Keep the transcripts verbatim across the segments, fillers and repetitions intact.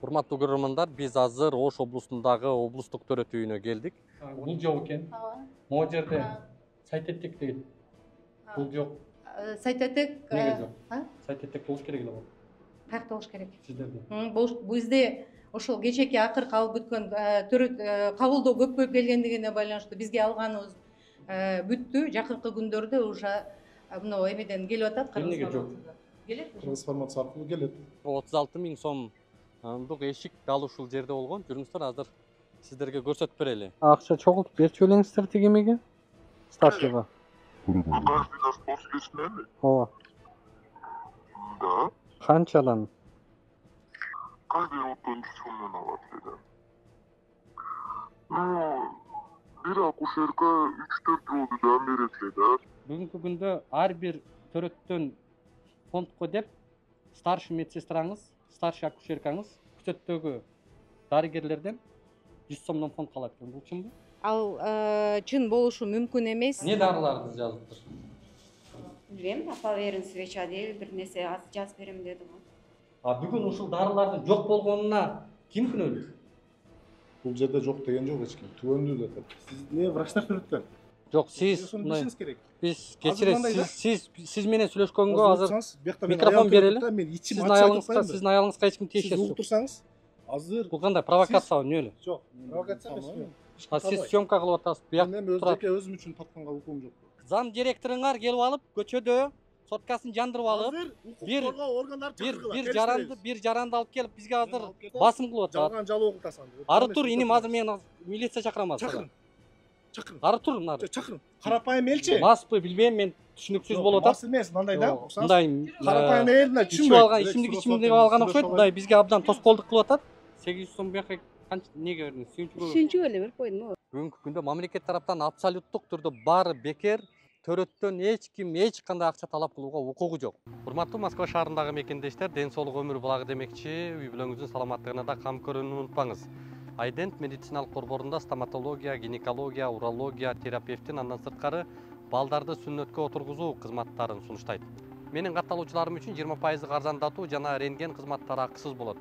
Урматтуу көрөрмандар, биз азыр Ош облусундагы облустук төрөт үйүнө келдик. Бул жок экен. Могу жерде сайтетек дейт. Бул жок. Сайтетек эмнеге жок? Сайтетек болуш керек эле го. Каякта болуш керек? Сиздерде. Бизде ошол кечээки акыркы алып бүткөн төрөт кабылдоо көп келгендигине байланыштуу бизге алганыбыз бүттү. Жакынкы күндөрдө уже мына эмеден келип атат. Эмнеге жок? Келет. Кыргыз формасы аркылуу келет. отуз алты миң сомдук эшик дал ушул жерде болгон. Жүрүңүздөр, азыр сиздерге көрсөтүп берели. Акча чогултуп берчү белеңиздер тиги эмеге? Старшийга. Ооба. Да. Канчадан? Каждый отон сомдон алат эле. Ну, бир акушерка үч төрт жолду жан берет эле да. Бүгүнкү күндө ар бир төрөттөн фондко деп старший медсестраңыз, старший акушеркаңыз күчөттөгү дарыгерлерден жүз сомдон фонд алат экен. Бул чынбы? Ал чын болушу мүмкүн эмес. Эмне дарыларды жазыптыр? Билбейм, апа берин свеча дейби бир нерсе жазып берем деди го. А бүгүн ушул дарылардын жок болгонуна ким күнөөлүү? Бул жерде жок деген жок эч ким. Түбөндүү деп. Сиз эмне врачтар сүрөткөн? Жок, сиз билишиңиз керек. Биз кечиресиз, сиз сиз менен сүйлөшкөнгө азыр микрофон микрофон берели. Сиздин аялыңызга, сиздин аялыңызга эч ким Сиз тиешеси угуп жок. турсаңыз, азыр Бул кандай провокация эмне эле? жок. Провокация эмес. А сиз съемка кылып атасыз. Буяк Мен өз турат. жеке өзүм үчүн тапканга укугум жок. Зам директоруңар келип алып, көчөдө соткасын жандырып алып, бир бир бир жаранды, бир жаранды алып келип бизге азыр басым кылып атат. Жалган жалоо окутасың. Ары тур, иним, азыр мен милиция чакырам азыр. Чакырын. Чакырын. Ары тур, нары. Чакырын. Карапайым элчи. Маспы, билбейм, мен түшүнүксүз болуп атат. Мас эмес, мындай да. Мындай Карапайым эл мына ичип алган, ичимдик ичимдик алган окшойт, мындай бизге абдан тоскоолдук кылып атат. сегиз жүз сом буяка канча эмнеге бердиңиз? Сүйүнчүгө. Сүйүнчүгө эле берип койдум. Бүгүнкү күндө мамлекет тараптан абсолюттук түрдө баары бекер, төрөттөн эч ким эч кандай акча талап кылууга укугу жок. Урматтуу Москва шаарындагы мекендештер, ден соолук өмүр булагы демекчи, үй бүлөңүздүн саламаттыгына да кам көрүүнү унутпаңыз. Айдент медициналык борборунда стоматология, гинекология, урология, терапевтин, андан сырткары балдарды сүннөткө отургузуу кызматтарын сунуштайт. Менин катталуучуларым үчүн жыйырма пайыздык арзандатуу жана рентген кызматтары акысыз болот.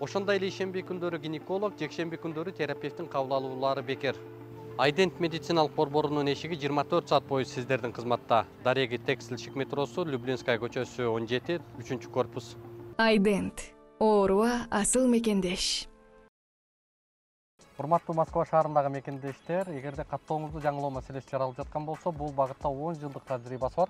Ошондой эле ишемби күндөрү гинеколог, жекшемби күндөрү терапевтин кабыл алуулары бекер. Айдент медициналык борборунун эшиги жыйырма төрт саат бою сиздердин кызматта. Дареги Текстильщик метросу, Люблинская көчөсү он жети, үчүнчү корпус. Айдент. Ооруга асыл мекендеш. Урматтуу Москва шаарындагы мекендештер, эгерде каттооңузду жаңылоо маселеси жаралып жаткан болсо, бул багытта он жылдык тажрыйбасы бар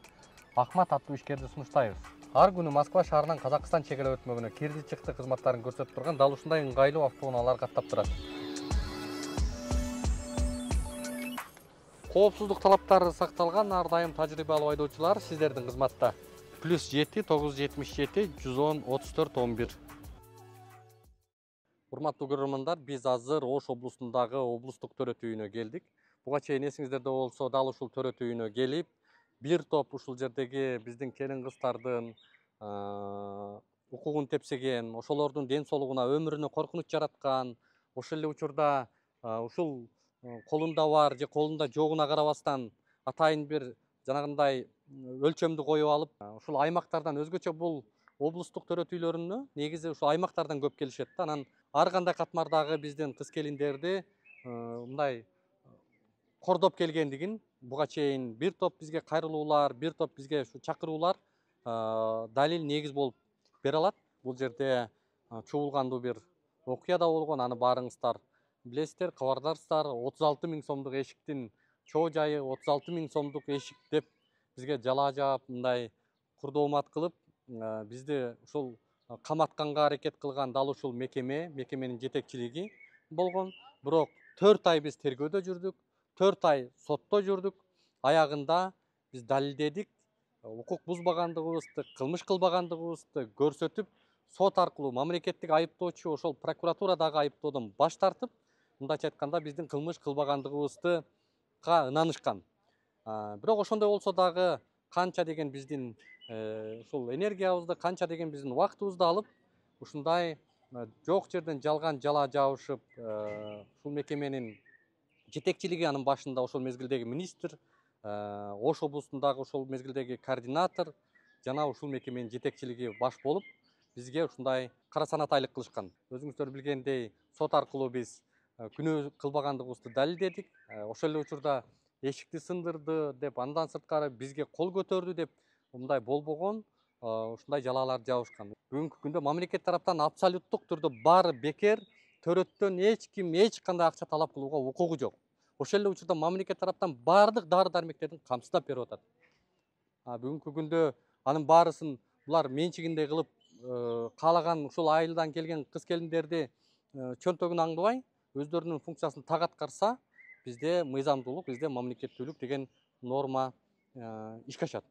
Ахмат аттуу ишкерди сунуштайбыз. Ар күнү Москва шаарынан Казакстан чек ара өтмөгүнө кирди чыкты кызматтарын көрсөтүп турган дал ушундай ыңгайлуу автоунаалар каттап турат. Коопсуздук талаптары сакталган ар дайым тажрыйбалуу айдоочулар сиздердин кызматта. плюс жети тогуз жүз жетимиш жети жүз он отуз төрт он бир. Урматтуу көрөрмандар, биз азыр Ош облусундагы облустук төрөт үйүнө келдик. Буга чейин эсиңиздерде болсо, дал ушул төрөт үйүнө келип, бир топ ушул жердеги биздин келин кыздардын укугун тепсеген, ошолордун ден соолугуна, өмүрүнө коркунуч жараткан, ошол эле учурда ушул колунда бар же колунда жогуна карабастан атайын бир жанагындай өлчөмдү коюп алып, ушул аймактардан өзгөчө бул облустук төрөт үйлөрүнө негизи ушул аймактардан көп келишет да. Анан ар кандай катмардагы биздин кыз келиндерди мындай кордоп келгендигин буга чейин бир топ бизге кайрылуулар, бир топ бизге ушу чакыруулар далил негиз болуп бере алат. Бул жерде чуулгандуу бир окуя да болгон, аны баарыңыздар билесиздер, кабардарсыздар. отуз алты миң сомдук эшиктин чоо жайы, отуз алты миң сомдук эшик деп бизге жалаа жаап, мындай курдоомат кылып, бизди ушул каматканга аракет кылган дал ушул мекеме, мекеменин жетекчилиги болгон. Бирок төрт ай биз тергөөдө жүрдүк, төрт ай сотто жүрдүк. Аягында биз далилдедик, укук бузбагандыгыбызды, кылмыш кылбагандыгыбызды көрсөтүп, сот аркылуу мамлекеттик айыптоочу ошол прокуратурадагы айыптоодон баш тартып, мындайча айтканда биздин кылмыш кылбагандыгыбызга ынанышкан. Бирок ошондой болсо дагы канча деген биздин ушул энергиябызды, канча деген биздин убактыбызды алып, ушундай жок жерден жалган жалаа жабышып, ушул мекеменин жетекчилиги, анын башында ошол мезгилдеги министр, Ош облусундагы ошол мезгилдеги координатор жана ушул мекеменин жетекчилиги баш болуп, бизге ушундай кара санатайлык кылышкан. Өзүңүздөр билгендей, сот аркылуу биз күнөө кылбагандыгыбызды далилдедик. Ошол эле учурда эшикти сындырды деп, андан сырткары бизге кол көтөрдү деп мындай болбогон, ушундай жалааларды жабышкан. Бүгүнкү күндө мамлекет тараптан абсолюттук түрдө баары бекер, төрөттөн эч ким эч кандай акча талап кылууга укугу жок. Ошол эле учурда мамлекет тараптан баардык дары дармектердин камсыздап берип атат. Бүгүнкү күндө анын баарысын булар менчигинде кылып, каалаган ушул айылдан келген кыз келиндерди чөнтөгүн аңдыбай, өздөрүнүн функциясын так аткарса, бизде мыйзамдуулук, бизде мамлекеттүүлүк деген норма ишке ашат.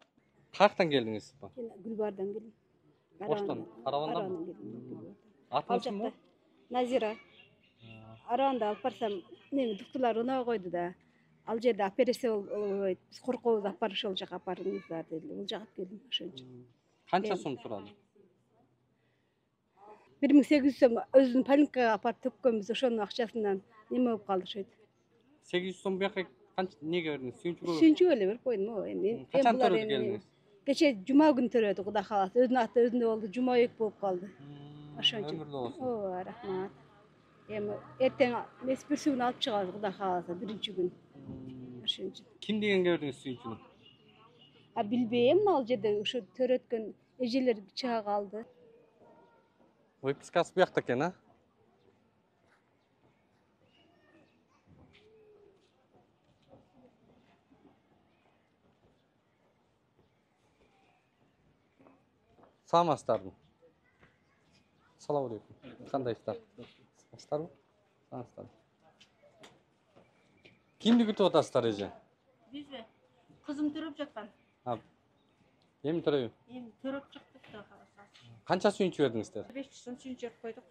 Каяктан келдиңиз? Гүлбардан келдим. Оштон, Каравандан? Атыңыз Назира. Араванда алып барсам, неме доктурлар унаа койду да. Ал жерде операция болбойт. Биз коркобуз, апарып ошол жака апарыңыздар деди. Бул жака келдим ошончо. Канча сом сурады? бир миң сегиз жүз сом өзүнүн поликлиникага апарып төккөнбүз, ошонун акчасынан неме болуп калды ошойт. сегиз жүз сом бияка канча эмнеге бердиңиз? Сүйүнчүгө? Сүйүнчүгө эле берип койдум го. Эми Качан төрөдү келдиңиз? Кече жума күнү төрөдү, Кудай кааласа. Өзүнүн аты өзүндө болду, жума эки болуп калды. Ошончо. Өмүрлүү болсун. Ооба, рахмат. Эми эртең эмес бүрсүгүн алып чыгабыз, Кудай кааласа, биринчи күн. Ошончо. Ким дегенге бердиңиз сүйүнчүгү? А билбейм, ал жерде ушу төрөткөн эжелер чыга калды. Выпискасы буякта экен, а? Саламатсыздарбы? Салам алейкум. Кандайсыздар? Саламатсыздарбы? Саламатсыздар. Кимди күтүп атасыздар эже? Бизби? Кызым төрөп жаткан. Эми төрөйбү? Эми төрөп чыктык да карасак. Канча сүйүнчү бердиңиздер? беш жүз сом сүйүнчү берип койдук.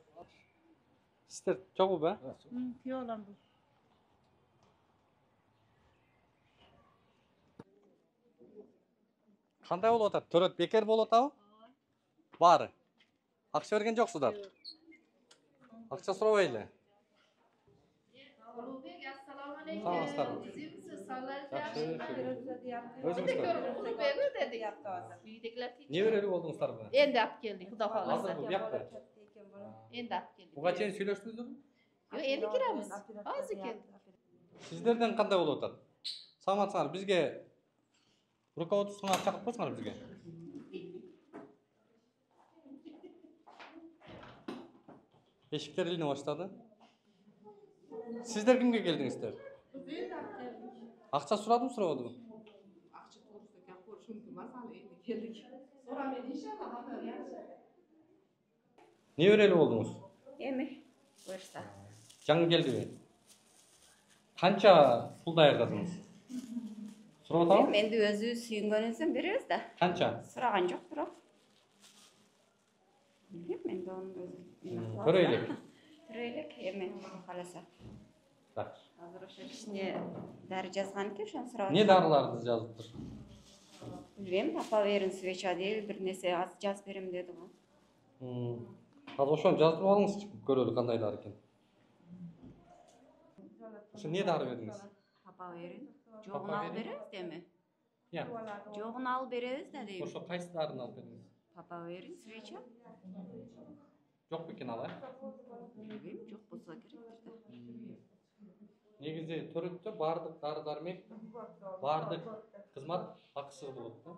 Сиздер чогуу, а? Күйөө балам бул. Кандай болуп атат? Төрөт бекер болуп атабы? Баары. Акча берген жоксуздар? Акча сурабай эле. Улубек, ассаламу алейкум. Саламатсыздарбы? Өзүңүздөр? Не берели болдуңуздарбы? Энди алып келдик, Кудай кааласа. Азырбы, буякпы? Энди алып келдик. Буга чейин сүйлөштүңүздөрбү? Жок, энди киребиз. Азыр келдик. Сиздерден кандай болуп атат? Саламатсыңар, бизге руководствоңа чакырып койсуңар бизге. Эшиктер илине баштады. Сиздер кимге келдиңиздер? Акча сурадымы, сурабадымы? Акча туурусунда кеп коюш мүмкүн эмес, аны энди келдик. Сурамен иншалла. Не берели болдуңуз? Эми буюрса. Жаңы келдиби? Канча пул даярдадыңыз? Сурап атабы? Енді өзі сүйінгеніңізден береміз да. Канча? Сұраған жоқ, бирок. Білмеймін, енді оның өзі. Көрөйлүк. Көрөйлүк, эми кааласа. Так. Азыр ошо кичине дары жазган экен, ошону сурап. Не дарыларды жазыптыр? Билбейм, апа берин свеча дейби, бир нерсе аз жазып берем деди го. Азыр ошону жазып алыңызчы, көрөлү кандай дары экен. Ошо не дары бердиңиз? Папа берин. Жогун алып беребиз деми? Я. Жогун алып беребиз да дейм. Ошо кайсы дарыны алып бердиңиз? Папа берин свеча. Жок бекен алай. Билбейм, жок болсо керектир да. Негизи төрөттө баардык дары дармек, баардык кызмат акысыз болот да.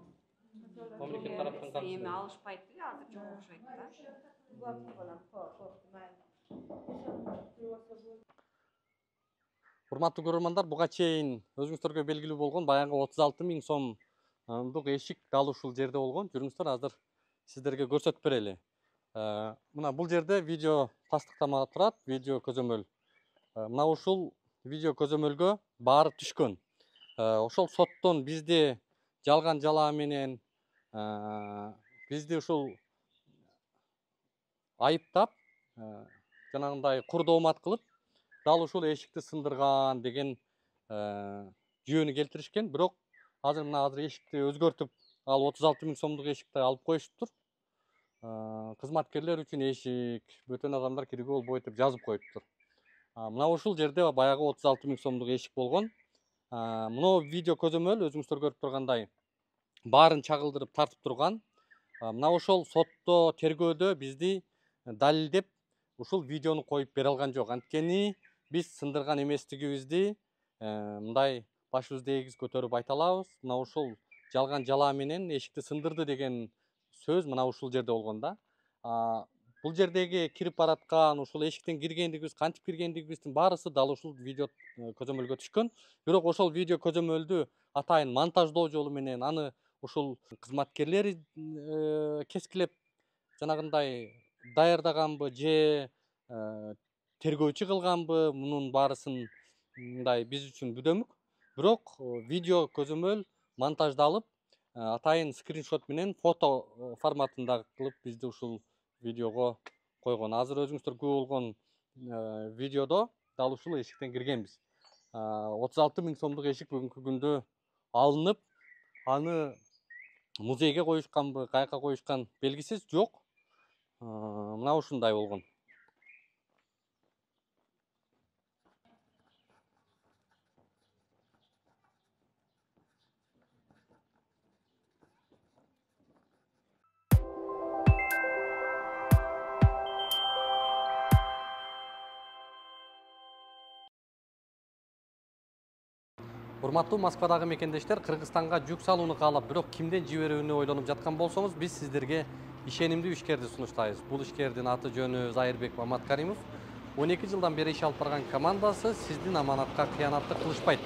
Мамлекет тараптан Эми каршы. алышпайт да, азыр жок окшойт да. Урматтуу көрөрмандар, буга чейин өзүңүздөргө белгилүү болгон баягы отуз алты миң сомдук эшик дал ушул жерде болгон. Жүрүңүздөр, азыр сиздерге көрсөтүп берели. Мына бул жерде видео тастыктама турат, видео көзөмөл. Мына ушул видео көзөмөлгө баары түшкөн. Ошол соттон бизди жалган жалаа менен бизди ушул айыптап, жанагындай курдоомат кылып, дал ушул эшикти сындырган деген жүйөнү келтиришкен. Бирок азыр мына азыр эшикти өзгөртүп, ал отуз алты миң сомдук эшикти алып коюшуптур. Кызматкерлер үчүн эшик, бөтөн адамдар кирүүгө болбойт деп жазып коюптур. Мына ушул жерде баягы отуз алты миң сомдук эшик болгон. Мына видео көзөмөл өзүңүздөр көрүп тургандай баарын чагылдырып тартып турган. мына ошол сотто тергөөдө бизди далилдеп ушул видеону коюп бере алган жок. Анткени биз сындырган эместигибизди мындай башыбызды эгиз көтөрүп айта алабыз. Мына ушул жалган жала менен эшикти сындырды деген сөз мына ушул жерде болгон да. Бул жердеги кирип бараткан, ушул эшиктен киргендигибиз, кантип киргендигибиздин баарысы дал ушул видео көзөмөлгө түшкөн. Бирок ошол видео көзөмөлдү атайын монтаждоо жолу менен аны ушул кызматкерлер кескилеп жанагындай даярдаганбы же тергөөчү кылганбы, мунун баарысын мындай биз үчүн бүдөмүк. Бирок видео көзөмөл монтаждалып, атайын скриншот менен фото форматында кылып бизди ушул видеого койгон. Азыр өзүңүздөр күбө болгон видеодо дал ушул эшиктен киргенбиз. отуз алты миң сомдук эшик бүгүнкү күндө алынып, аны музейге коюшканбы, каяка коюшкан белгисиз, жок. Мына ушундай болгон. Урматтуу Москвадагы мекендештер, Кыргызстанга жүк салууну каалап, бирок кимден жиберүүнү ойлонуп жаткан болсоңуз, биз сиздерге ишенимдүү ишкерди сунуштайбыз. Бул ишкердин аты жөнү Зайырбек Маматкаримов. он эки жылдан бери иш алып барган командасы сиздин аманатка кыянаттык кылышпайт.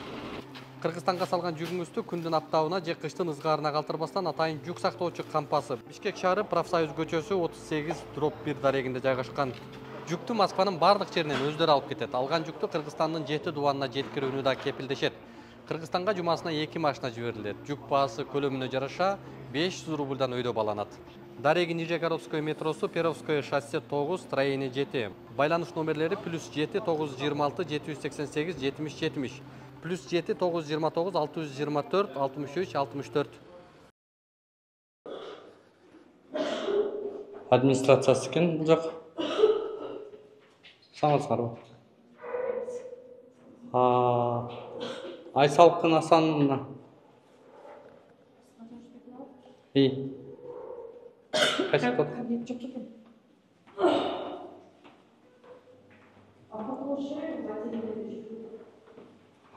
Кыргызстанга салган жүгүңүздү күндүн аптабына же кыштын ызгаарына калтырбастан атайын жүк сактоочу кампасы Бишкек шаары Профсоюз көчөсү отуз сегиз дробь бир дарегинде жайгашкан. Жүктү Москванын бардык жеринен өздөрү алып кетет. Алган жүктү Кыргызстандын жети дубанына жеткирүүнү да кепилдешет. Кыргызстанга жумасына эки машина жиберилет. Жүк баасы көлөмүнө жараша беш жүз рубльдан өйдө баланат. Дареги Нижегородское метросу, Перовское шоссе тогуз, строение жети. Байланыш номерлери плюс жети тогуз жүз жыйырма алты жети жүз сексен сегиз жетимиш жетимиш. Плюс жети тогуз жүз жыйырма тогуз алты жүз жыйырма төрт алтымыш үч алтымыш төрт. Администрациясы экен бул жак. Саңызсыңарбы? Айсалкын Асановна. И. Кайсы код?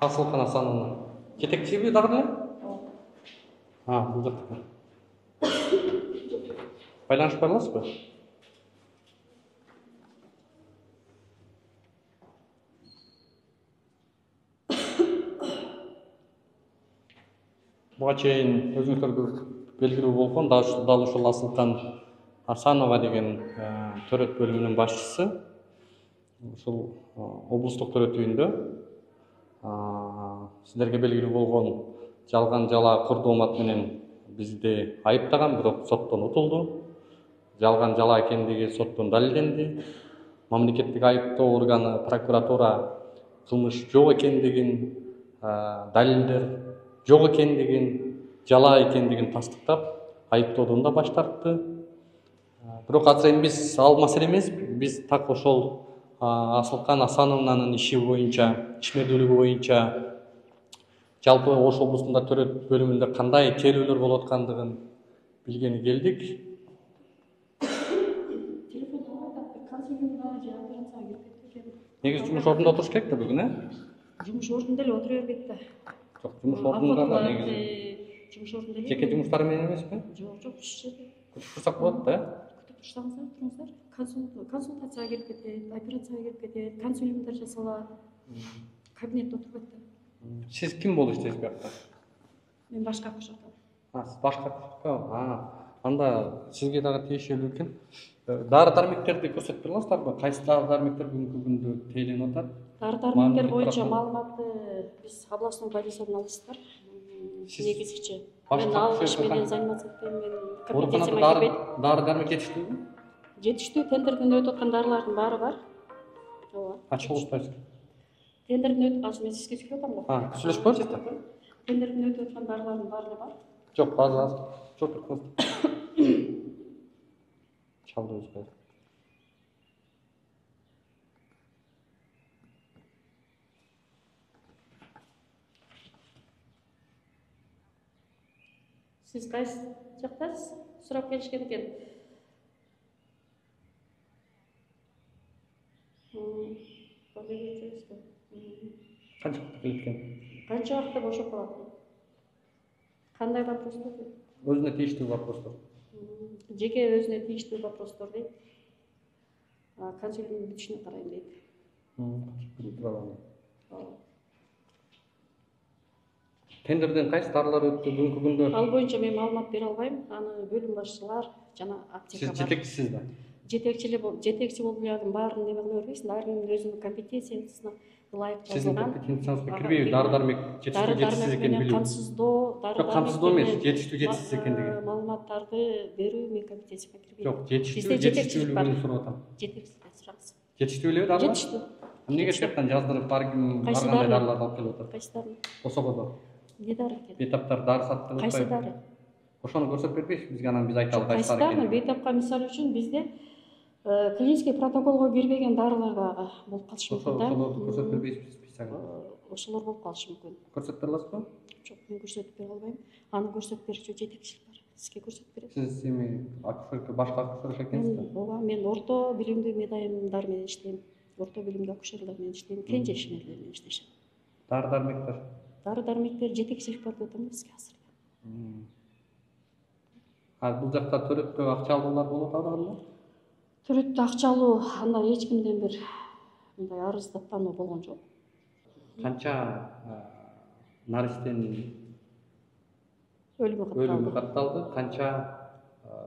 Асылкын Асановна. Жетекчиби дагы эле? А, бул жакта. Байланышып бара аласызбы? Буга чейин өзүңүздөргө белгилүү болгон дал ушул Асылкан Асанова деген төрөт бөлүмүнүн башчысы. Ушул облустук төрөт үйүндө сиздерге белгилүү болгон жалган жала курдумат менен бизди айыптаган, бирок соттон утулду. Жалган жала экендиги соттон далилденди. Мамлекеттик айыптоо органы прокуратура кылмыш жок экендигин, далилдер жок экендигин, жала экендигин тастыктап, айыптоодон да баш тартты. Бирок азыр эми биз ал маселе эмес, биз так ошол Асылкан Асановнанын иши боюнча, ишмердүүлүгү боюнча жалпы Ош облусунда төрөт бөлүмүндө кандай тейлөөлөр болуп аткандыгын билгени келдик. Негизи жумуш ордунда отуруш керек да бүгүн, э? Жумуш ордунда эле отура бербейт да. Жок, жумуш ордунда да негизи. Жумуш ордунда эле. Жеке жумуштары менен эмеспи? Жок, жок, ушул жерде. Күтүп турсак болот да, э? Күтүп турсаңыздар, туруңуздар. Консультацияга кирип кетет, операцияга кирип кетет, консилиумдар жасалат. Кабинетте отурбайт да. Сиз ким болуп иштейсиз буякта? Мен башка акушерка. А, сиз башка акушерка? А, анда сизге дагы тиешелүү экен. Дары дармектерди көрсөтүп бере аласыздарбы? Кайсы дары дармектер бүгүнкү күндө тейленип атат? Дары дармектер боюнча маалыматты биз областной больницадан аласыздар. Негизичи. Мен ал иш менен заниматься этпейм, мен компетенцияма кирбейт. Дары дармек жетиштүүбү? Жетиштүү, тендерден өтүп аткан дарылардын баары бар. Ооба. Ачык болуштайсыз. Тендерден өтүп, азыр мен сизге сүйлөп атам го. А, сүйлөшпөйбүз да. Тендерден өтүп аткан дарылардын баары бар. Жок, азыр азыр. Жок, турсаңыз. Чалдыңыз. Сиз кайсы жактасыз? сурап келишкен экен. Канча вакытта келет экен? Канча вакытта бошоп калат? Кандай вопростор? Өзүнө тийиштүү вопростор. Жеке өзүнө тийиштүү вопростор дейт. Консилиумдун бүтүшүнө карайм дейт. Тендерден кайсы дарылар өттү бүгүнкү күндө? Ал боюнча мен маалымат бере албайм. Аны бөлүм башчылар жана аптека бар. Сиз жетекчисиз да? Жетекчилик жетекчи болуп эле баарын неме кыла бербейсиң. Баарынын өзүнүн компетенциясына ылайык жазылган. Сиздин компетенцияңызга кирбейби? Дары дармек жетиштүү жетишсиз экенин билүү. Камсыздоо, дары Жок, камсыздоо эмес, жетиштүү жетишсиз экендиги. Маалыматтарды берүү менин компетенцияма кирбейт. Жок, жетиштүү жетиштүүлүгүн сурап атам. Жетекчиликте сураңыз. Жетиштүү элеби дарылар? Жетиштүү. Эмнеге жактан жаздырып ар ким ар Кайсы кандай дары? дарыларды алып келип атат? Кайсы дары? Косободо. Не дары экен? Бейтаптар дары сатып Кайсы атпайбы? дары? Ошону көрсөтүп бербейсизби бизге, анан биз айталы Кайсы кайсы дары? дары экенин? Бейтапка мисалы үчүн бизде клинический протоколго кирбеген дарылар дагы болуп калышы мүмкүн да. Ошолорду көрсөтүп бербейсизби списогун? Ошолор болуп калышы мүмкүн. Көрсөтүп бере аласызбы? Жок, мен көрсөтүп бере албайм. Аны көрсөтүп берүүчү жетекчилик бар. Сизге көрсөтүп берет. Сиз эми акушерка, башка акушерка экенсизби? Ооба, мен орто билимдүү медайымдар менен иштейм. Орто билимдүү акушерлер менен иштейм. Кенже ишмерлер менен иштешем. Дары дармектер? Дары дармектер жетекчилик бар деп атам бизге азыр. А бул жакта төрөттө акча алуулар болуп атабы? Төрөттө акча алуу андай эч кимден бир мындай арыздаттануу болгон жок. Канча наристенин Өлүмү өлүмү катталды. катталды? Канча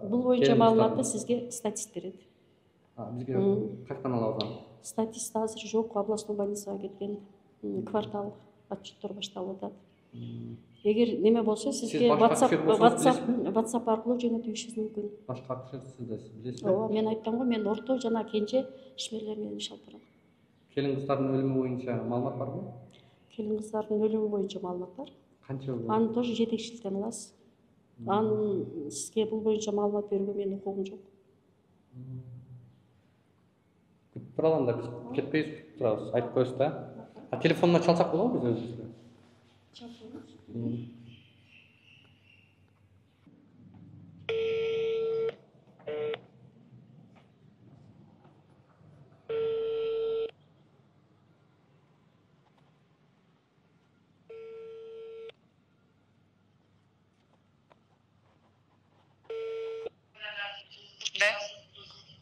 Бул боюнча маалыматты сизге статист берет. Бизге кайткан алабыз аны? Статист азыр жок, областной больницага кеткен. Квартал отчеттор башталып атат. Эгер неме болсо сизге WhatsApp WhatsApp WhatsApp аркылуу жөнөтүшүңүз мүмкүн. Башка акушерсиз да сиз билесизби? Ооба, мен айттым го, мен орто жана кенже ишмерлер менен иш алып барам. Келин кыздардын өлүмү боюнча маалымат барбы? Келин кыздардын өлүмү боюнча маалымат бар. Канча? Аны тоже жетекчиликтен аласыз. Анын сизге бул боюнча маалымат берүүгө менин укугум жок. Күтүп тура алам да, биз кетпейбиз, күтүп турабыз. Айтып коесуз да. А телефонуна чалсак болобу биз өзүбүзгө?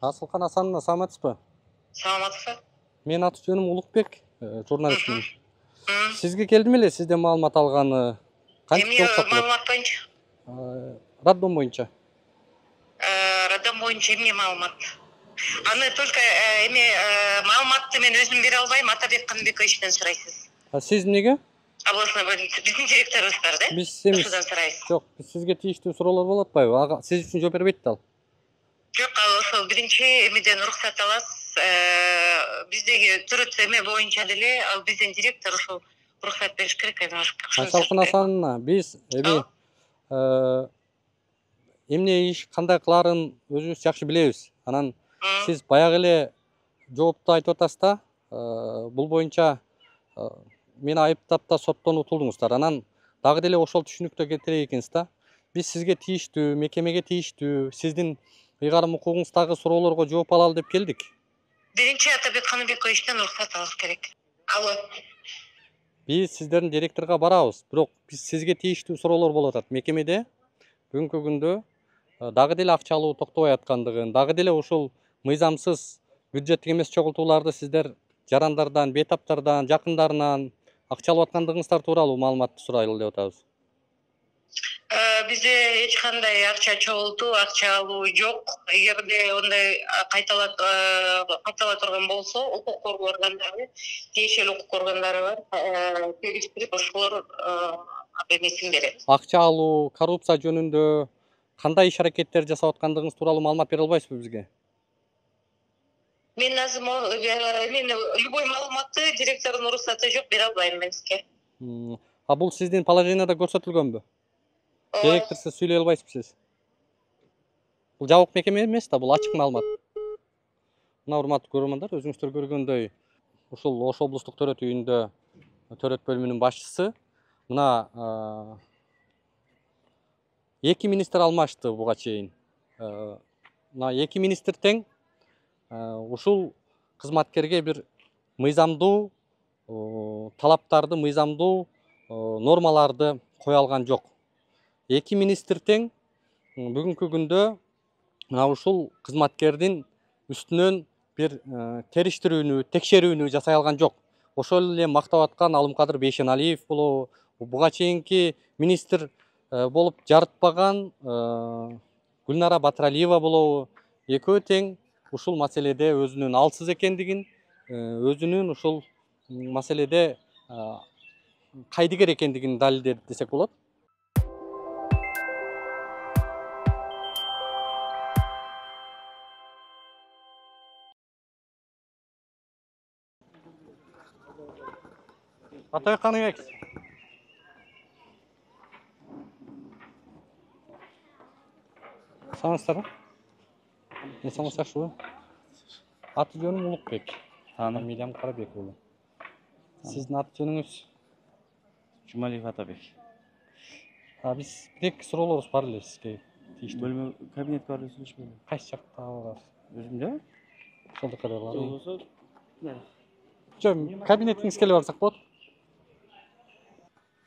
Асылкан Асановна, саламатсызбы? Саламатсызбы. Менин аты жөнүм Улукбек, журналистмин. Сизге келдим эле, сизден маалымат алганы. Эмне маалымат боюнча? Роддом боюнча. Роддом боюнча эмне маалымат? Аны только эме маалыматты мен өзүм бере албайм, Атабек Каныбековичтен сурайсыз. Сиз эмнеге? Областной больница биздин директорубуз бар да. Биз эмес. Ошодон сурайсыз. Жок, биз сизге тийиштүү суроолор болуп атпайбы? Ага сиз үчүн жооп бербейт да ал. Жок, ал ошол биринчи эмеден уруксат аласыз. Биздеги төрөт эме боюнча деле ал биздин директор ошол уруксат бериш керек. Асылкан Асановна, биз эми эмне иш кандай кылаарын өзүбүз жакшы билебиз. Анан сиз баягы эле жоопту айтып атасыз да, бул боюнча мени айыптап да соттон утулдуңуздар. Анан дагы деле ошол түшүнүктө кетирейик экенсиз да. Биз сизге тийиштүү, мекемеге тийиштүү, сиздин ыйгарым укугуңуздагы суроолорго жооп алалы деп келдик. Биринчи Атабек Каныбековичтен уруксат алыш керек. Алло. Биз сиздердин директорго барабыз, бирок биз сизге тийиштүү суроолор болуп атат. Мекемеде бүгүнкү күндө дагы деле акча алуу токтобой аткандыгын, дагы деле ушул мыйзамсыз бюджеттик эмес чогултууларды сиздер жарандардан, бейтаптардан, жакындарынан акча алып аткандыгыңыздар тууралуу маалыматты сурайлы деп атабыз. Бизде эч кандай акча чогултуу, акча алуу жок. Эгерде ондай кайтала кайтала турган болсо, укук коргоо органдары, тиешелүү укук органдары бар, келиштирип ошолор эмесин берет. Акча алуу, коррупция жөнүндө кандай иш аракеттер жасап аткандыгыңыз тууралуу маалымат бере албайсызбы бизге? Мен азыр мен любой маалыматты директордун уруксаты жок бере албайм мен сизге. А бул сиздин положенияда көрсөтүлгөнбү? Директорсуз сүйлөй албайсызбы? Бул жабык мекеме эмес да, бул ачык маалымат. Мына урматтуу көрөрмандар, өзүңүздөр көргөндөй, ушул Ош облустук төрөт үйүндө төрөт бөлүмүнүн башчысы мына эки министр алмашты буга чейин. мына эки министр тең ушул кызматкерге бир мыйзамдуу талаптарды, мыйзамдуу нормаларды кое алган жок. Эки министр тең бүгүнкү күндө мына ушул кызматкердин үстүнөн бир териштирүүнү, текшерүүнү жасай алган жок. Ошол эле мактап аткан Алымкадыр Бейшеналиев болобу, буга чейинки министр болуп жарытпаган Гүлнара Батыралиева болобу, экөө тең ушул маселеде өзүнүн алсыз экендигин, өзүнүн ушул маселеде кайдыгер экендигин далилдеди десек болот. Атабек Каныбек. Саламатсыздарбы? Эсиңиз жакшыбы? Аты жөнүм Улукбек. Фамилиям Карабек болду. Сиздин аты жөнүңүз? Жумалиев Атабек. А биз бир эки суроолорубуз бар эле сизге. Бөлмө кабинетке барып сүйлөшпөйбү? Кайсы жакта бар? Өзүмдө? Ошол жака бар. Болбосо. Жок, кабинетиңизге эле барсак болот.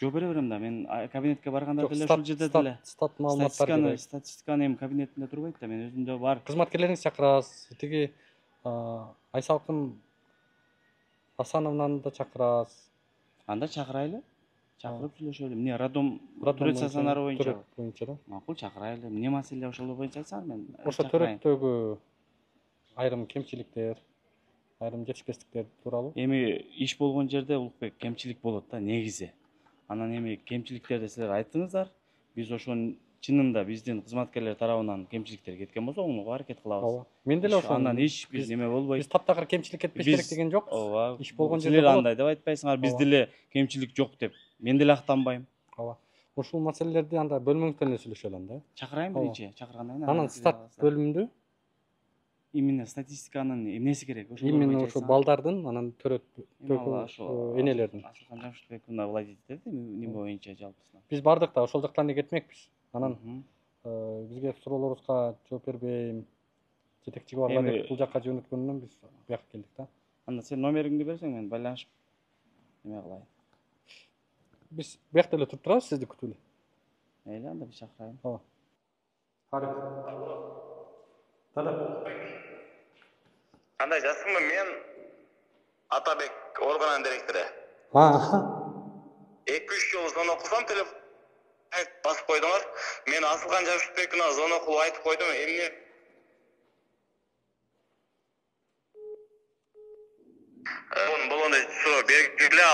Жооп бере берем да, мен кабинетке барганда деле ушул жерде деле. Стат маалыматтар керек. Статистиканы эми кабинетинде турбайт да, мен өзүмдө бар. Кызматкерлериңизди чакырасыз. Тиги Айсалкын Асановнаны да чакырасыз. Анда чакырайлы. Чакырып сүйлөшөлү. Эмне роддом төрөт стационары боюнча. Боюнча да. Макул, чакырайлы. Эмне маселе ошол боюнча айтсаңыз мен. Ошо төрөттөгү айрым кемчиликтер, айрым жетишпестиктер тууралуу. Эми иш болгон жерде Улукбек кемчилик болот да, негизи. Анан эми кемчиликтерди силер айттыңыздар. Биз ошонун чынында биздин кызматкерлер тарабынан кемчиликтер кеткен болсо, оңуга аракет кылабыз. Ооба. Мен деле ошо. Андан эч бир неме болбойт. Биз таптакыр кемчилик кетпеш керек деген жок. Ооба. Иш болгон жерде силер андай деп айтпайсыңар, биз деле кемчилик жок деп. Мен деле актанбайм. Ооба. Ушул маселелерди анда бөлмөңүздөн эле сүйлөшөлү анда. Чакырайын биринчи, чакыргандан кийин. Анан стат бөлүмүндө именно статистиканын эмнеси керек? Ошол именно ошо балдардын, анан төрөттөгү энелердин. Асылкан Жамшытбек мына былай дейт, эмне боюнча жалпысынан. Биз бардык да ошол жактан эле кетмекпиз. Анан бизге суроолорубузга жооп бербейм, жетекчиге барба деп бул жакка жөнөткөнүнөн биз бияка келдик да. Анда сен номериңди берсең, мен байланышып неме кылайын. Биз биякта эле туруп турабыз, сизди күтүп эле. Мейли, анда биз чакырайын. Ооба. Дада. Кандай жассыңбы? Мен Атабек органынын директору. эки үч жолу звонок кылсам, телефон басып койдуңар. Мен Асылкан Жамшытбековна звонок кылып айтып койдум, эмне Бун болгондо суроо бергиле,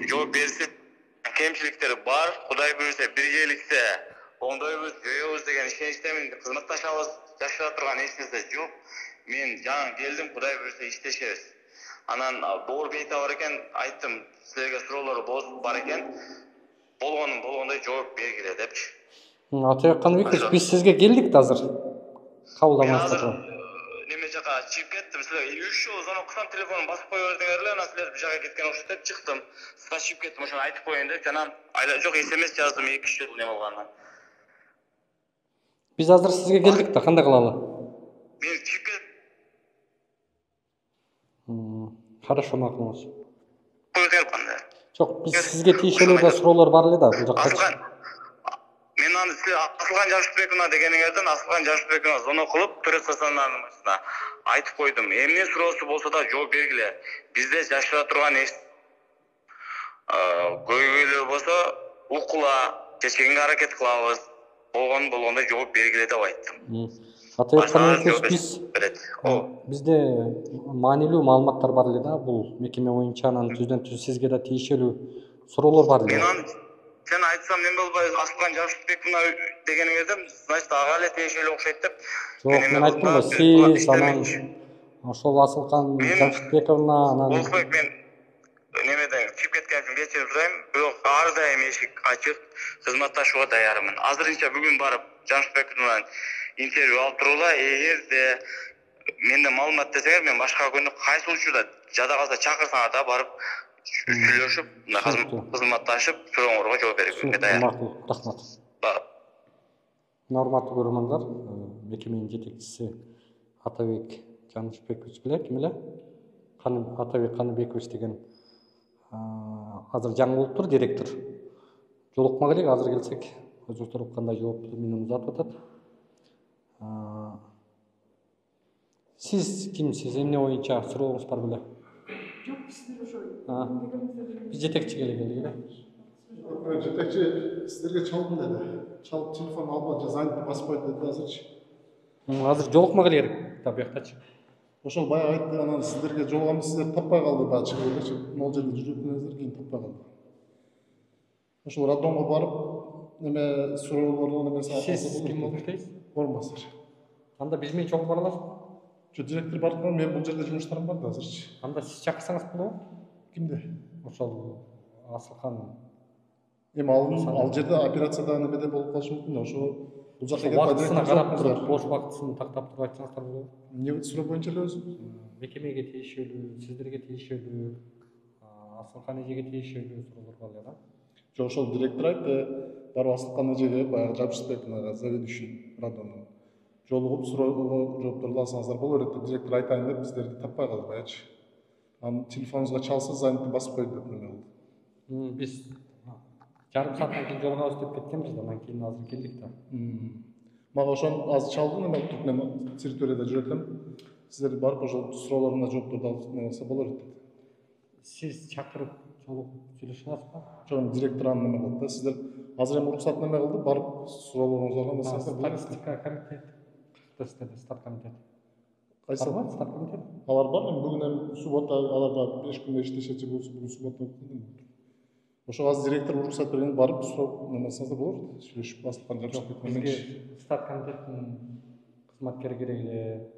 жооп берсип, кемчиликтер бар, Кудай буйрса биргеликте оңдойбуз, жоёбуз деген ишеничтемин. Кызматташабыз, жашыра турган эч нерсе жок. Мен жаңы келдим, Кудай буйрса иштешебиз. Анан Боор Бейта бар экен, айттым, силерге суроолор бар экен. Болгонун болгондой жооп бергиле депчи. Атабек Каныбекович, биз сизге келдик да азыр. Кабылдамайсыздар. Неме жака чыгып кеттим, силер үч жолу звонок кылсам, телефонун басып кое бердиңер эле, анан силер бир жака кеткен окшойт деп чыктым. Сага чыгып кеттим, ошону айтып коеюн деп, анан айла жок эсемес жаздым эки үч жолу неме кылгандан. Биз азыр сизге келдик да, кандай кылалы? Мен чыгып кеттим. Хорошо, макулуңуз. Койдуңар кандай? Жок, биз сизге тиешелүү да суроолор бар эле да бул жакта. Мен аны силер Асылкан Жамшытбековна дегениңерден Асылкан Жамшытбековна звонок кылып, төрөт стационарынын башына айтып койдум. Эмне суроосу болсо да жооп бергиле. Бизде жашыра турган эч көйгөйлөр болсо укула, чечкенге аракет кылабыз. Болгон болгондой жооп бергиле деп айттым. Атабек Каныбекович, биз бизде маанилүү маалыматтар бар эле да бул мекеме боюнча, анан түздөн түз сизге да тиешелүү суроолор бар эле. Мен сен айтсам неме болбой, Асылкан Жамшытбековна дегениңерден, значит, ага эле тиешелүү окшойт деп. Жок, мен айттым го, сиз анан ошол Асылкан Жамшытбековна анан Улукбек, мен немеден чыгып кеткен үчүн кечирип сурайм, бирок ар дайым эшик ачык, кызматташууга даярмын. Азырынча бүгүн барып Жамшытбековнан интервью алып тургула, эгерде менде маалымат десеңер, мен башка күнү кайсы учурда жада калса чакырсаңар да барып сүйлөшүп, кызматташып, сурооңорго жооп берүүгө даярмын. Макул, рахмат. Урматтуу көрөрмандар, мекеменин жетекчиси Атабек Жанышбекович беле, ким эле? Атабек Каныбекович деген азыр жаңы болуптур, директор. Жолукма келек, азыр келсек, өзүңүздөр кандай жооп менен узатып атат. Сиз кимсиз? Эмне боюнча сурооңуз бар беле? Жок, сиздер ошо Биз жетекчи келе келдик эле. Жетекчи сиздерге чалдым деди. Чалып телефон албай, занят баспайт деди азырчы. Азыр жолукма келе керек да буяктачы. Ошол баягы айтты, анан сиздерге жолугамды сиздер таппай калды, баягы чыгып элечи. Могул жерде жүрүп элеңиздер, кийин таппай калды. Ошол роддомго барып, неме суроолордун немеси алсак болот. Сиз ким болуп иштейсиз? Орун басар. Анда биз менен чогуу бара аласызбы? Жо, директор барып калган, мен бул жерде жумуштарым бар да азырчы. Анда сиз чакырсаңыз болобу? Кимди? Ошол Асылкан. Эми ал ал жерде операцияда немеде болуп калышы мүмкүн. Ошо бул жакка келип убактысына карап туруп, бош убактысын тактап туруп айтсаңыздар болобу? Эмне суроо боюнча эле өзү? Мекемеге тийишелүү, сиздерге тийишелүү, Асылкан эжеге тийишелүү суроолор бар эле да. Жо, ошол директор айтты, барып Асылкан эжеге баягы Жабышбек мына заведующий роддомдун жолугуп суроого жоопторду алсаңыздар боло берет деп директор айтайын деп биздерди таппай калды баягычы. Анан телефонуңузга чалса занятты басып койду деп неме кылды. Биз жарым сааттан кийин жолугабыз деп кеткенбиз да, анан кийин азыр келдик да. Мага ошон азыр чалды, неме туруп неме территорияда жүрөт элем. Сиздер барып ошол суроолоруна жоопторду алып неме кылса боло берет деп. Сиз чакырып жолугуп сүйлөшүп аласызбы? Жок, директор аны неме кылды да. Сиздер азыр эми уруксат неме кылды, барып суроолоруңузду алган болсоңуздар боло берет. Статистика комитет, стат комитет. Кайсы? Бар, стат комитет. Алар бар, эми бүгүн эми суббота алар да беш күндө иштешечи болсо, бүгүн суббота болуп калды. Ошо азыр директор уруксат берген, барып сурап неме кылсаңыздар боло берет. Сүйлөшүп Асылкан Жабышбек менен. Бизге стат комитеттин кызматкери керек эле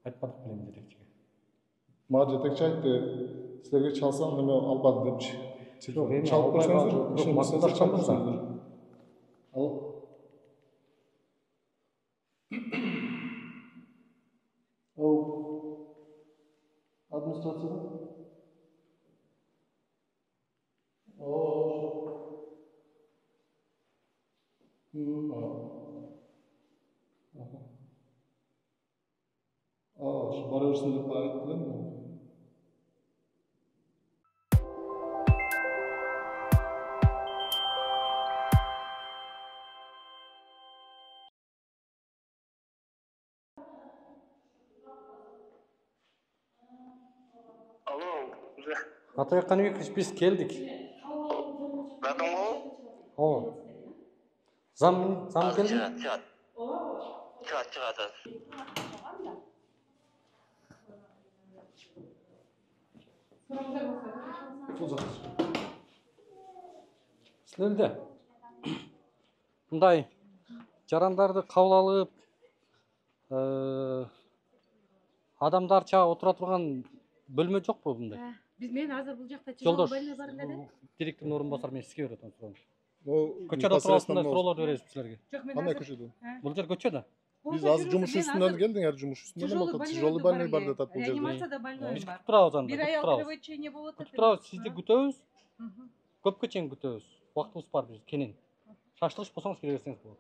айтпадык белем жетекчиге. Мага жетекчи айтты, силерге чалсам неме албады депчи. Жок, эми чалып көрсөңүздөр, ишенбесеңиздер чалып көрсөңүздөр. Алло. Оу. Администрацияда? Ооо. Мм, а. Ага. А, ошо бара берсин деп айтты элем. Атабек Каныбекович, биз келдик. Радомго? Ооба. Зам, зам келди? Чыгат, чыгат. Чыгат, чыгат. Силерде мындай жарандарды кабыл алып, адамдарча отура турган бөлмө жокпу мындай? Биз мен азыр бул жакта Жолдош, бөлмө бар эле да. директордун орун басары мен сизге берет суроону. Көчөдө Көчөдө турасыздар, суроолорду бересиз силерге. Жок, мен Кандай азыр көчөдө? Бул жер көчө да. Биз азыр жумуш үстүнөн келдиңер, жумуш үстүнөн эме болуп, тяжелый больной бар деп атат бул жерде. Реанимацияда больной Биз бар. күтүп турабыз анда. Бир аял кровотечение болуп атат. Күтүп турабыз, сизди күтөбүз. Көпкө чейин күтөбүз. Убактыбыз бар биз, кенен. Шаштыргыч болсоңуз келе берсеңиз болот.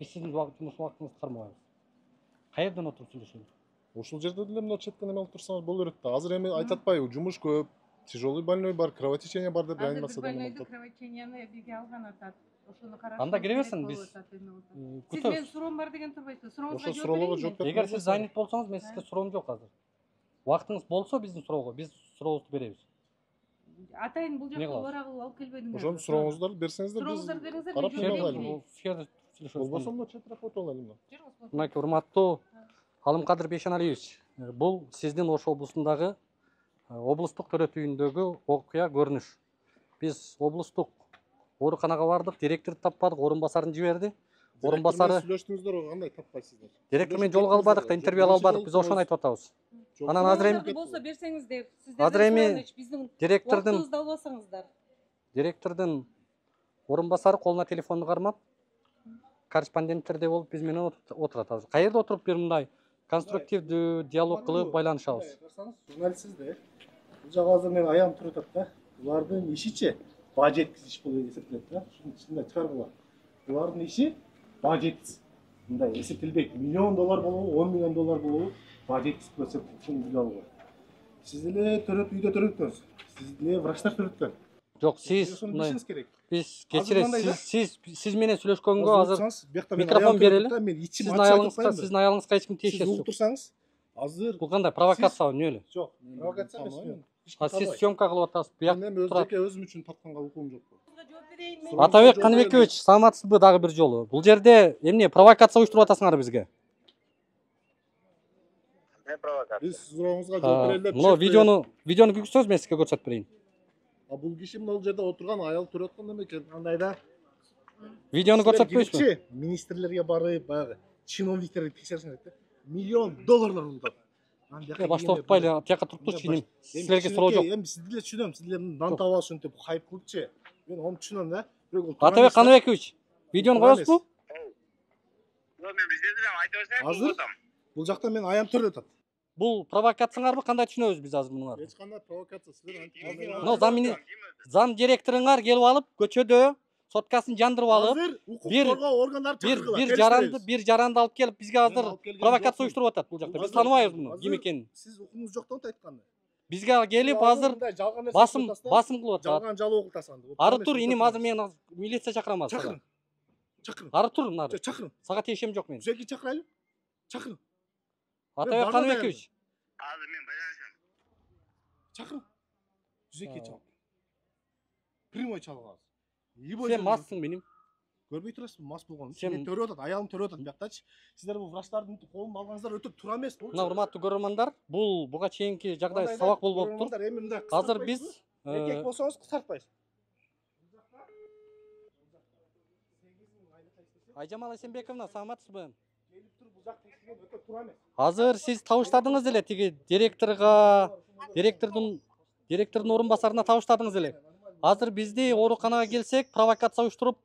Биз сиздин жумуш убактыңызды кармабайбыз. Каерден отуруп сүйлөшөлү? Ошол жерде деле мына четтен эме алып турсаңыз боло берет да. Азыр эми айтып атпайбы, жумуш көп, тяжелый больной бар, кровотечение бар деп реанимацияда эме Больнойду атат. кровотеченияны бизге алган атат. Ошону караш. Анда кире берсин, биз Сиз мен суроом бар деген турбайсызбы? Сурооңузга Ошо суроолорго жооп бериңиз. Эгер сиз занят болсоңуз, мен сизге суроом жок азыр. Убактыңыз болсо биздин суроого, биз сурообузду беребиз. Атайын бул жакка убара кылып алып келбедиңер. Ошону сурооңузду берсеңиздер, биз Сурооңузду бериңиздер, карап мен эме жөнөтөйүн. кылайлы. Болбосо мына четирээк отуруп алайлы мына. Мынакей урматтуу Алымкадыр Бейшеналиевич, бул сиздин Ош облусундагы облустук төрөт үйүндөгү окуя көрүнүш. Биз облустук ооруканага бардык, директорду таппадык, орун басарын жиберди. Орун басары сүйлөштүңүздөр, кандай таппайсыздар? Директор менен жолуга албадык да, интервью ала албадык, биз ошону айтып атабыз. Анан азыр эми болсо берсеңиздер, азыр эми директордун убактыбызды албасаңыздар. Директордун орун басары колуна телефонду кармап, корреспонденттердей болуп биз менен отурат азыр. Каерде отуруп бир мындай конструктивдүү диалог кылып байланышабыз? Журналистсиз да. Бул жагы азыр мен аягым туруп атат да. Булардын ишичи баа жеткизиш болуп эсептелет да. Ушунун ичинде чыгар булар. Булардын иши баа жеткиз. мындай эсептелбейт. Миллион доллар болобу, он миллион доллар болобу, бажеттик процент үчүн биле алуу. Сиз эле төрөт үйдө төрөттүңүз. Сиз эле врачтар төрөткөн. Жок, сиз биз кечиресиз, сиз сиз сиз менен сүйлөшкөнгө азыр микрофон берели. Сиздин аялыңызга, сиздин аялыңызга эч ким тиешеси жок. Сиз турсаңыз, азыр бул кандай провокация эмне эле? Жок, провокация эмес. А сиз съемка кылып атасыз. Буяк мен өзүмө өзүм үчүн тапканга укугум жок. Атабек Каныбекович, саламатсызбы дагы бир жолу? Бул жерде эмне провокация уюштуруп атасыңар бизге? Не провокация? Биз сурооңузга жооп берели деп. Мына видеону, видеону көрсөңүз мен сизге көрсөтүп берейин. А бул киши мына жерде отурган аял төрөт кандай экен? Андай да. Видеону көрсөтпөйсүзбү? Министрлерге барып, баягы чиновниктерди текшериш керек да. Миллион долларлар унутат. Башта отпайлы, тияка туруп турчу инем. Силерге суроо жок. Эми сизди эле түшүнөм, сиздер дан таба ушинтип хайп кылыпчы. Мен аны түшүнөм да. Атабек Каныбекович, видеону коесузбу? Мен биздерди да айта берсем. Азыр бул жакта мен аям төрөп атат. Бул провокацияңарбы, кандай түшүнөбүз биз азыр муну? Эч кандай провокация, силер антип. Но зам зам директоруңар келип алып, көчөдө соткасын жандырып алып, бир бир бир жаранды, бир жаранды алып келип бизге азыр провокация уюштуруп атат бул жакта. Биз тааныбайбыз муну, ким экенин. Сиз укугуңуз жок деп айтканда. Бизге келип азыр басым басым кылып атат. Жалган жалоо кылтасың. Ары тур, инем азыр мен милиция чакырам азыр. Чакырың. Чакырың. Ары тур, нары. Чакырың. Сага тиешем жок мен. Түзөккө чакырайлы. Чакырың. Атабек Каныбекович. Азыр мен байланышам. Чакырың. Түзөккө чал. Прямой чалгансыз. Сен массың меним. Көрбөй турасызбы, мас болгонун? Мен төрөп атат, аялым төрөп атат бияктачы. Сиздер бул врачтардын колун алгаңыздар өтө туура эмес. Мына урматтуу көрөрмандар, бул буга чейинки жагдай сабак болуп болуптур. Азыр биз эркек болсоңуз кысартпайсыз. Айжамал Эсенбековна, саламатсызбы? Келип туруп бул жакта эсиген өтө туура эмес. Азыр сиз табыштадыңыз эле тиги директорго, директордун директордун орун басарына табыштадыңыз эле. Азыр бизди ооруканага келсек, провокация уюштуруп,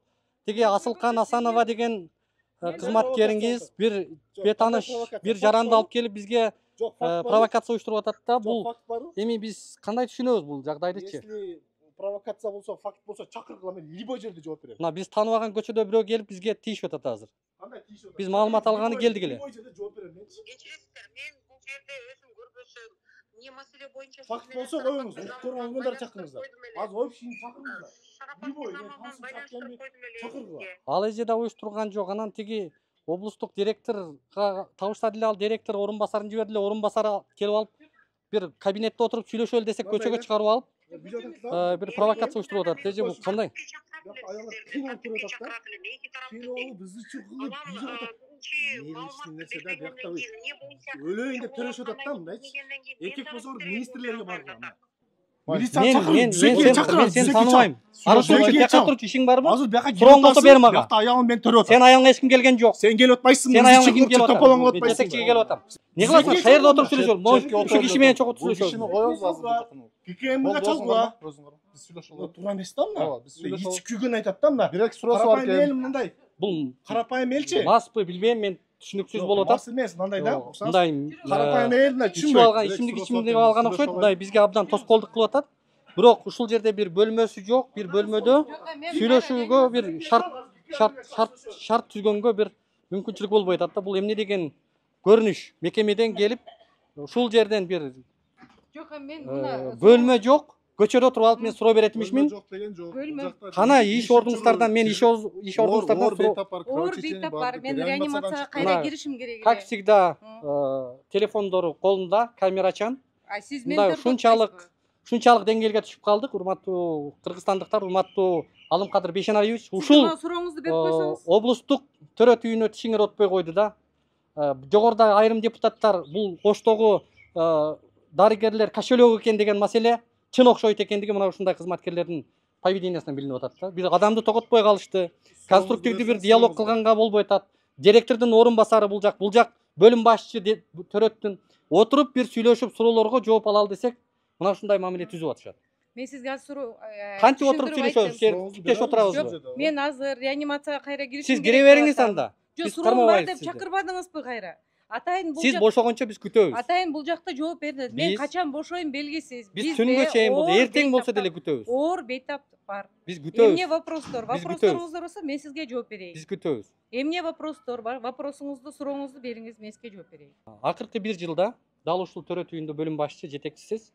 тиги Асылкан Асанова деген кызматкериңиз бир бетаныш, бир жаранды алып келип бизге провокация уюштуруп атат да. Бул эми биз кандай түшүнөбүз бул жагдайдычы? Если провокация болсо, факт болсо чакыргыла, мен любой жерде жооп берем. Мына биз тааныбаган көчөдө бирөө келип бизге тийишип атат азыр. Кандай тийишип атат? Биз маалымат алганы келдик эле. Любой жерде жооп берем мен. Кечиресиздер, мен бул жерде өзүм көрбөсөм, эмне маселе боюнча факт болсо коюңуз, укук органдарды чакырыңыздар. Азыр общий чакырыңыздар. Любой чакыргыла. Ал эже да уюштурган жок. Анан тиги облустук директорго табыштады эле, ал директор орун басарын жиберди эле, орун басары келип алып бир кабинетте отуруп сүйлөшөлү десек көчөгө чыгарып алып бир провокация уюштуруп атат. Эже бул кандай? Аялдар кыйналып туруп атат да. Кыйналып бизди чукулуп бизди атат. Негизги нерсе да биякта өлөйүн деп төрөшүп атат да мындайчы. Эркек болсоңор министрлерге барган. Милиция чакырып, түзөккө чакырып, сен тааныбайм. Ары тур, бияка турчу, ишиң барбы? Азыр бияка сурооң болсо бер мага. Бияка аялым мен төрөп атам. Сен аялыңа эч ким келген жок. Сен келип атпайсың, сен аялыңа ким келип атат? тополоңуп атпайсың. Жетекчиге келип атам. Не кыласың? Каерде отуруп сүйлөшөлү? Ушу киши менен чогуу сүйлөшөлү. Кишини коебуз азыр. ККМга чалгыла. Биз сүйлөшөлү. Туура эмес да мына. Ооба, биз сүйлөшөлү. Ич күгөн айтат да мына. Бирок суроосу бар экен. Эл мындай. Бул карапайым элчи. Маспы, билбейм, мен түшүнүксүз болуп атат. Мас эмес, мындай да. Мындай карапайым эл мына ичип алган, ичимдик ичимдик алган окшойт. Мындай бизге абдан тоскоолдук кылып атат. Бирок ушул жерде бир бөлмөсү жок, бир бөлмөдө сүйлөшүүгө бир шарт шарт шарт шарт түзгөнгө бир мүмкүнчүлүк болбой атат да. Бул эмне деген көрүнүш? Мекемеден келип ушул жерден бир жок, мен мына бөлмө жок, көчөдө туруп алып мен суроо берет имишмин. Жок деген жок. Кана иш ордуңуздардан мен иш иш ордуңуздардан оор бейтап бар. Мен реанимацияга кайра киришим керек. Как всегда, телефондору колунда, камерачан. А сиз мен ушунчалык ушунчалык деңгээлге түшүп калдык, урматтуу кыргызстандыктар, урматтуу Алымкадыр Бейшеналиевич. Ушул сурооңузду берип койсоңуз. Облустук төрөт үйүнө тишиңер отпой койду да. Жогоруда айрым депутаттар бул Оштогу дарыгерлер кошелек экен деген маселе чын окшойт экендиги мына ушундай кызматкерлердин поведениясынан билинип атат да. Бир адамды тоготпой калышты. Конструктивдүү бир диалог кылганга болбой атат. Директордун орун басары бул жак, бул жак бөлүм башчы төрөттүн отуруп бир сүйлөшүп суроолорго жооп алалы десек, мына ушундай мамиле түзүп атышат. Мен сизге азыр суроо кантип отуруп сүйлөшөбүз? Типтеш отурабызбы? Мен азыр реанимацияга кайра киришим керек. Сиз кире бериңиз анда. Жок, суроо бар деп чакырбадыңызбы кайра? Атайын бул Сиз жак- бошогончо биз күтөбүз. Атайын бул жакта жооп берди. Мен Биз- качан бошойм белгисиз. Биз Бизде түнгө чейин болду, оор эртең болсо бейтаптар- деле күтөбүз. Оор бейтап бар. Биз күтөбүз. Эмне вопростор? Биз Вопросторуңуздар болсо мен сизге жооп берейин. Биз күтөбүз. Эмне вопростор бар? Вопросуңузду, сурооңузду бериңиз, мен сизге жооп берейин. Акыркы бир жылда дал ушул төрөт үйүндө бөлүм башчы жетекчисиз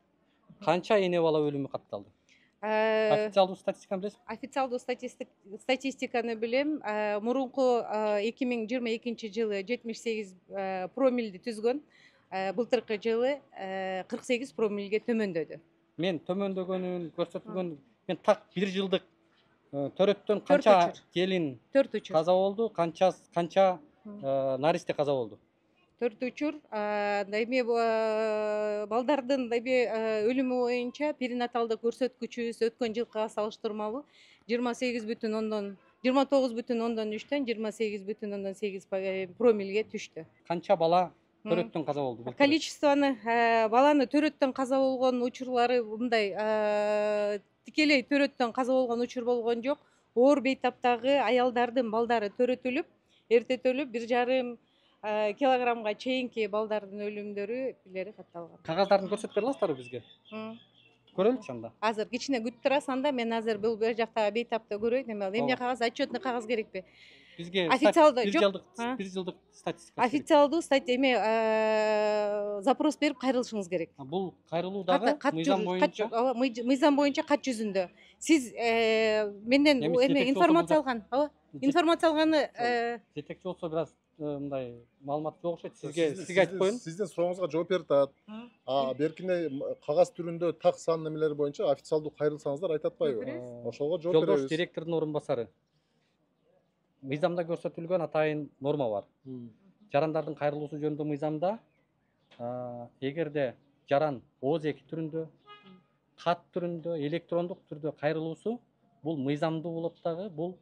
канча эне бала өлүмү катталды? Э, Официалдуу статистиканы билесизби? Официалдуу статистик- статистиканы билем. Э, Мурунку эки миң жыйырма экинчи жылы жетимиш сегиз э, промилди түзгөн. Э, Былтыркы жылы э, кырк сегиз промилге төмөндөдү. Мен төмөндөгөнүн көрсөтүлгөн мен так бир жылдык э, төрөттөн канча учур. келин Төрт учур. каза болду, канча канча э, наристе каза болду? Төрт учур. Эми балдардын эми өлүмү боюнча перинаталдык көрсөткүчүбүз өткөн жылкыга салыштырмалуу жыйырма сегиз бүтүн ондон жыйырма тогуз бүтүн ондон үчтөн жыйырма сегиз бүтүн ондон сегиз промилге түштү. Канча бала төрөттөн каза болду? былтыр? Количествоны э, баланы төрөттөн каза болгон учурлары мындай э, тикелей төрөттөн каза болгон учур болгон жок. Оор бейтаптагы аялдардын балдары төрөтүлүп, эртетилип бир жарым э, килограммга чейинки балдардын өлүмдөрү билери катталган. Кагаздарын көрсөтүп бере аласыздарбы бизге? М. Көрөлүчү анда. Азыр кичине күтүп турасыз, анда мен азыр бул бер жактагы бейтапты көрөйүн. Эме эмне Ооба. кагаз, отчетный кагаз керекпи? Бизге Официалдуу бир жок. жылдык А? бир жылдык статистика. керек. Официалдуу статья эме э, запрос берип кайрылышыңыз керек. А, Бул кайрылуу дагы Кат мыйзам жүз- кат боюнча жүз- ооба, мый- мыйзам боюнча кат жүзүндө. Сиз э, менден Эми бу эме жетекчи информация болсо алган, ооба? Информация алганы э, жетекчи болсо бир аз э, мындай маалымат жок окшойт. Сизге Сиздин- сизге айтып сиздин- коеюн. Сиздин сурооңузга жооп берип атат. А беркине кагаз түрүндө так сан немелери боюнча официалдуу кайрылсаңыздар айтып атпайбы? Ошого жооп Жолдош беребиз. директордун орун басары. Мыйзамда көрсөтүлгөн атайын норма бар. Жарандардын кайрылуусу жөнүндө мыйзамда а, эгерде жаран ооз эки түрүндө, кат түрүндө, электрондук түрдө кайрылуусу бул мыйзамдуу болот дагы, бул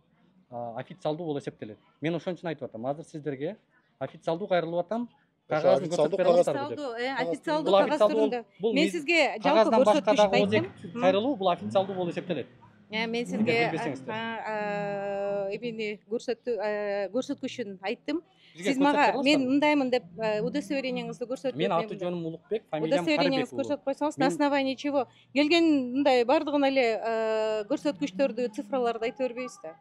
а, официалдуу болуп эсептелет. Мен ошон үчүн айтып атам. Азыр сиздерге официалдуу кайрылып атам. Кагазын официалдуу көрсөтүп бере кагаз аласыздарбы деп. официалдуу э, Кагаз официалдуу Бул кагаз официалдуу түрүндө. бул Мен мыйз- сизге жалпы кагаздан башка көрсөткүчтү дагы ооз айттым. эки кайрылуу бул официалдуу болуп эсептелет. Э, Мен Эгер сизге билбесеңиздер. эмени көрсөттү э, көрсөткүчүн айттым. Бизге Сиз көрсөтүп мага бере мен аласыздарбы? мындаймын деп э, удостоверениеңизди көрсөтүп Мен аты жөнүм Улукбек, фамилиям удостоверениеңизди Карыбеков. көрсөтүп койсоңуз, на Мен- основании чего? Келген мындай бардыгын эле э, көрсөткүчтөрдү, цифраларды айта бербейбиз да.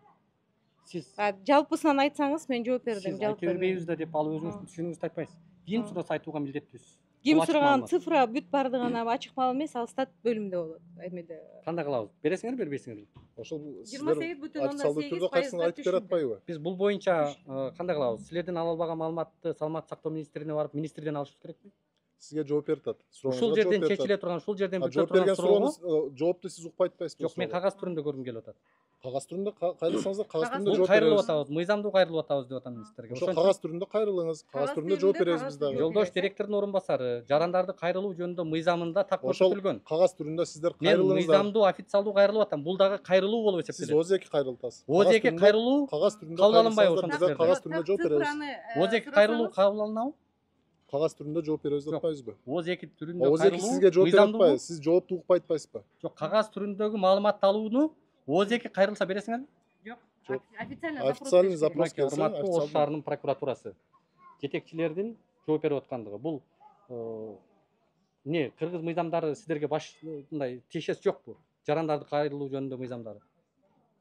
Сиз А, жалпысынан айтсаңыз мен жооп бердим. сиз айта Жалпы бербейбиз да деп ал өзүңүздүн түшүнүгүңүздү айтпайсыз. Ким сураса айтууга милдеттүүсүз. Ким Бул ачык сураган маалымат. цифра бүт бардыгына ачык маалымат эмес, ал стат бөлүмүндө болот. Эмеде Кандай кылабыз? Бересиңерби, бербейсиңерби? Ошол жыйырма сегиз бүтүн ондон официалдуу сегиз түрдө кайсысын пайызга айтып бере атпайбы? Биз бул боюнча э, кандай кылабыз? Силерден ала албаган маалыматты Саламаттык сактоо министрине барып, министрден алышыбыз керекпи? Сизге жооп берип атат. Ушул жерден чечиле турган, ушул жерден бүтө жооп турган берген суроого сурооңуз э, жоопту сиз укпай атпайсызбы? жок, мен кагаз түрүндө көргүм келип атат. Кагаз түрүндө ка- кайрылсаңыздар кагаз түрүндө Бул жооп кайрылып беребиз. атабыз, мыйзамдуу кайрылып атабыз деп атам мен сиздерге. Ошо Ошон кагаз түрүндө кайрылыңыз, кагаз Кагаз түрүндө жооп түрүндө, беребиз кагаз биз дагы. жолдош директордун орун басары, жарандарды кайрылуу жөнүндө мыйзамында так Ошол көрсөтүлгөн. кагаз түрүндө сиздер Мен кайрылыңыздар. мыйзамдуу, официалдуу кайрылып атам. Бул дагы кайрылуу болуп Сиз эсептелет. ооз эки кайрылтасыз. ооз эки кайрылуу кагаз түрүндө кабыл алынбайбы кайрылсаңыздар, ошондо биз силерден? кагаз түрүндө жооп беребиз. ооз эки кайрылуу кабыл алынабы? Кагаз түрүндө жооп беребиз деп атпайбызбы? ооз эки түрүндө ооз эки кайрылуу сизге жооп бере мыйзамдуубу? атпайбы? Сиз жоопту укпай атпайсызбы? Жок, кагаз түрүндөгү маалыматты алууну ооз эки кайрылса бересиңерби? Жок. Жок. Официально Официальный запрос. запрос келсе, Урматтуу Ош официалдуу. шаарынын прокуратурасы жетекчилердин жооп берип аткандыгы. Бул э, не кыргыз мыйзамдары сиздерге баш мындай тиешеси жокпу? Жарандарды кайрылуу жөнүндө мыйзамдары.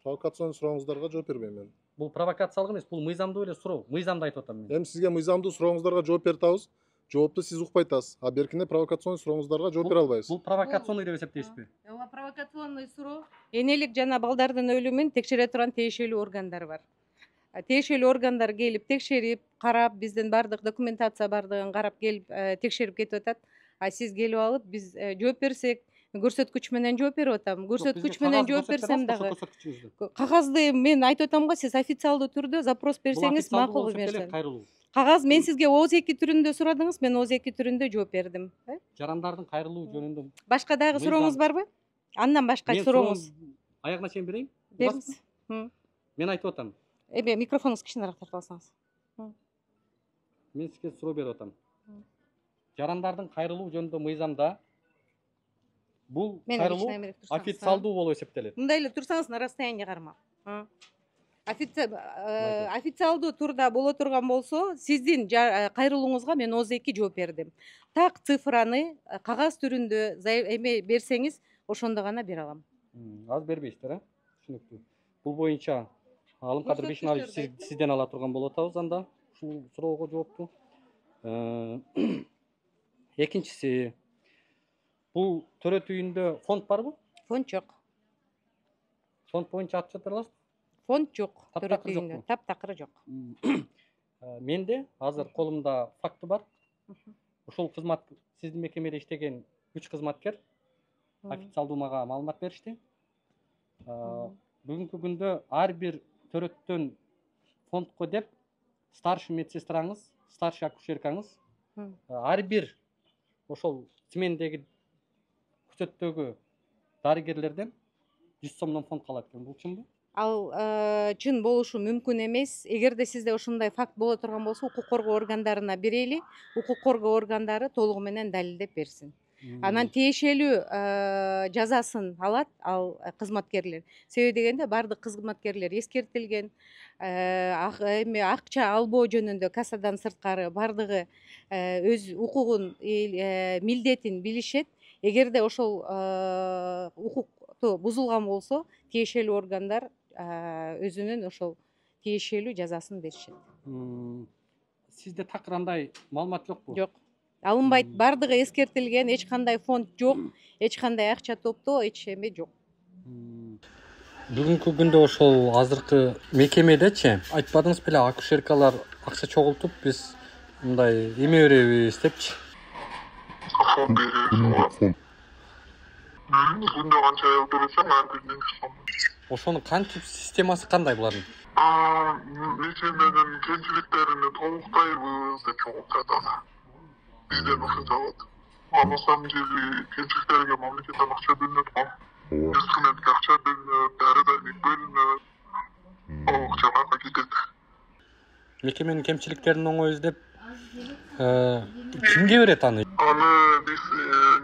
Провокацион сурооңуздарга жооп бербейм мен. Бул провокациялык эмес, бул мыйзамдуу эле суроо. Мыйзамды айтып атам мен. Эми сизге мыйзамдуу сурооңуздарга жооп берип атабыз. Жоопту сиз укпай атасыз. А беркине провокацион сурооңуздарга жооп бере албайбыз. Бул провокационный деп эсептейсизби? Ооба, провокационный суроо. Энелик жана балдардын өлүмүн текшере турган тиешелүү органдар бар. А, Тиешелүү органдар келип текшерип, карап, биздин бардык документация бардыгын карап келип э, текшерип кетип атат. А сиз келип алып биз э, жооп берсек, көрсөткүч менен жооп берип атам. Көрсөткүч менен жооп берсем дагы кагазды мен айтып атам го, сиз официалдуу түрдө запрос берсеңиз макул эмес. Кайрылуу. Кагаз мен сизге ооз эки түрүндө сурадыңыз, мен ооз эки түрүндө жооп бердим. Э? Жарандардын кайрылуу жөнүндө Башка дагы Мыйзам. сурооңуз барбы? Андан башка мен сурооңуз суроону аягына чейин берейин. бериңиз. М. Мен айтып атам. Эме микрофонуңузду кичинераак тартып алсаңыз. Мен сизге суроо берип атам. Жарандардын кайрылуу жөнүндө мыйзамда бул Мен кайрылуу кичинераак турсаңыз. официалдуу болуп эсептелет. Мындай эле турсаңыз на расстояние кармап. Официалдуу турда боло турган болсо, сиздин кайрылууңузга мен ооз эки жооп бердим. Так цифраны кагаз түрүндө эме берсеңиз, ошондо гана бере алам. Азыр бербейсиздер, э? Түшүнүктүү. Бул боюнча Алымкадыр Бешеналиев сизден ала турган болуп атабыз анда ушул суроого жоопту. Экинчиси, бул төрөт үйүндө фонд барбы? Фонд жок. Фонд боюнча ат чатыр аласызбы? Фонд жок. Төрөт үйүндө таптакыры жок. Менде азыр колумда факты бар. Ушул кызмат сиздин мекемеде иштеген үч кызматкер официалдуу мага маалымат беришти. Бүгүнкү күндө ар бир төрөттөн фондко деп старший медсестраңыз, старший акушеркаңыз ар бир ошол смендеги күчөттөгү дарыгерлерден жүз сомдон фонд калат экен. Бул чынбы? Ал чын болушу мүмкүн эмес. Эгерде сизде ошондой факт боло турган болсо, укук коргоо органдарына берели. Укук коргоо органдары толугу менен далилдеп берсин. Анан тиешелүү жазасын алат ал кызматкерлер. Себеби дегенде бардык кызматкерлер эскертилген, эми акча албоо жөнүндө кассадан сырткары бардыгы өз укугун, милдетин билишет. Эгерде ошол укукту бузулган болсо, тиешелүү органдар өзүнүн ошол тиешелүү жазасын беришет. Сизде такыр андай маалымат жокпу? Жок. Алынбайт. Бардыгы эскертилген, эч кандай фонд жок, эч кандай акча топтоо, эч эме жок. Бүгүнкү күндө ошол азыркы мекемедечи айтпадыңыз беле, акушеркалар акча чогултуп биз мындай эме беребиз депчи. Фонд беребиз. Күндө канча аял бересең, ар биринен жүз сом. Ошонун кантип системасы кандай булардын? Мекеменин кемчиликтерин толуктайбыз деп чогултат аны. Бизден ушунча алат. А на самом деле кемчиликтерге мамлекеттен акча бөлүнөт го. Инструментке акча бөлүнөт, дары-дармек бөлүнөт. Ал акчага кетет. Мекеменин кемчиликтерин оңой издеп кимге берет аны? Аны биз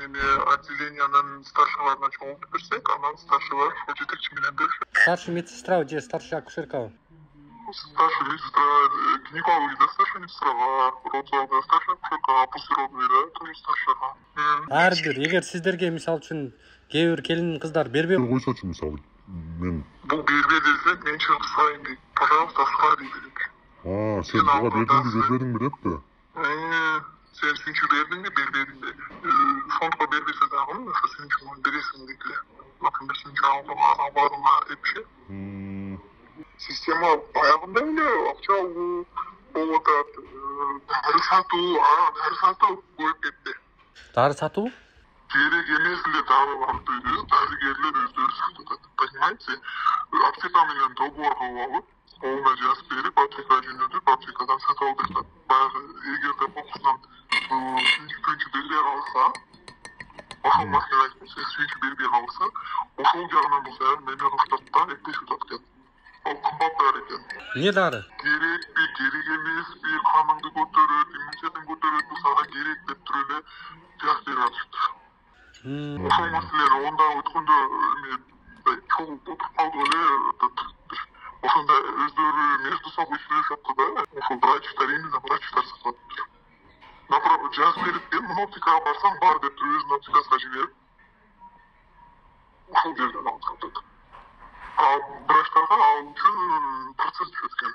неме отделениянын старшыларына чогултуп берсек, анан старшылар ошол жетекчи менен беришет. Старший медсестра же старший акушеркабы? Старший медсестра, гинекологияда старший медсестра бар, родзалда старший акушерка, пусиродныйда тоже старшыга. Ар бир, эгер сиздерге мисалы үчүн кээ бир келин кыздар бербей койсочу, мисалы мен бул бербе десек, мен чыгып сурайын дейт. Пожалуйста, сура дей берет. А, сен буга бердиңби, бербедиңби депти? Сен сүйүнчү бердиңби, бербедиңби? Фондко бербесе дагы, ошо сүйүнчү бересиң дейт. Например, сүйүнчү албадыңа депчи. Система баягындай эле акча алуу болуп атат. Дары сатуу, дары сатуу көбөйүп кетти. Дары сатуу? Керек эмес эле дарыларды дарыгерлер өздөрү сатып атат. Понимаете? Аптека менен договор кылып алып, колуна жазып берип, аптекага жөнөтүп, аптекадан сатып алып жатат. Баягы эгерде кокусунан сүйүнчү бербей калса, ошол маселе айтып, сүйүнчү бербей калса, ошол жагынан болсо эме кылышат да, эптешип атат экен. Ал кымбат дары экен. Эмне дары? Керекпи, керек эмеспи, каныңды көтөрөт, иммунитетин көтөрөт, сага керек деп туруп эле жазып берип атышты. Ошол маселени онда өткөндө эме чогулуп отуруп калдык эле. Ошондо өздөрү между собой сүйлөшүп да, ошол врачтар, именно врачтар сатып атыптыр. Направо жазып берип, мен мына аптекага барсам бар деп өзүнүн аптекасына жиберип, ошол жерден алып сатат. А врачтарга ал үчүн процесс түшөт экен.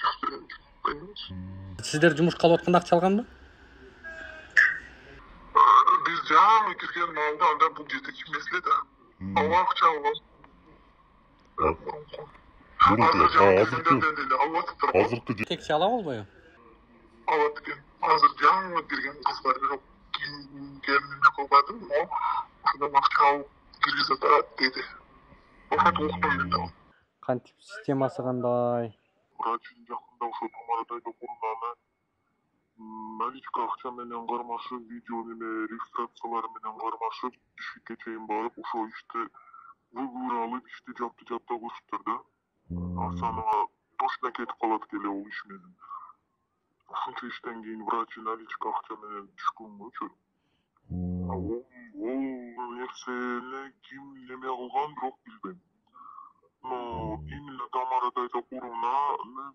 Жазып берген үчүн. Понимаете? Сиздер жумушка алып атканда акча алганбы? Биз жаңы кирген маалда анда бул жетекчи меселе да. Ал акча алган. Азыркы жетекчи ала болбойбу? Алат экен. Азыр жаңы кирген кыз бар, бирок келинине кылбадым, но ошондон акча алып киргизе атат деди. Ошентип уктум мен да. Кантип системасы кандай? Врачин жакында ошо Тамарадай окугундагы наличка акча менен кармашып, видео неме регистрациялары менен кармашып, ишке чейин барып, ошо ишти выговор алып, ишти жапты жапта көрүшүптүр да. Асанага точно кетип калат келе ол иш менен. Ошончо иштен кийин врач наличка акча менен түшкөнгөчү. Ол нерсени ким неме кылган бирок билбейм. Но именно Тамара каратайча курумуна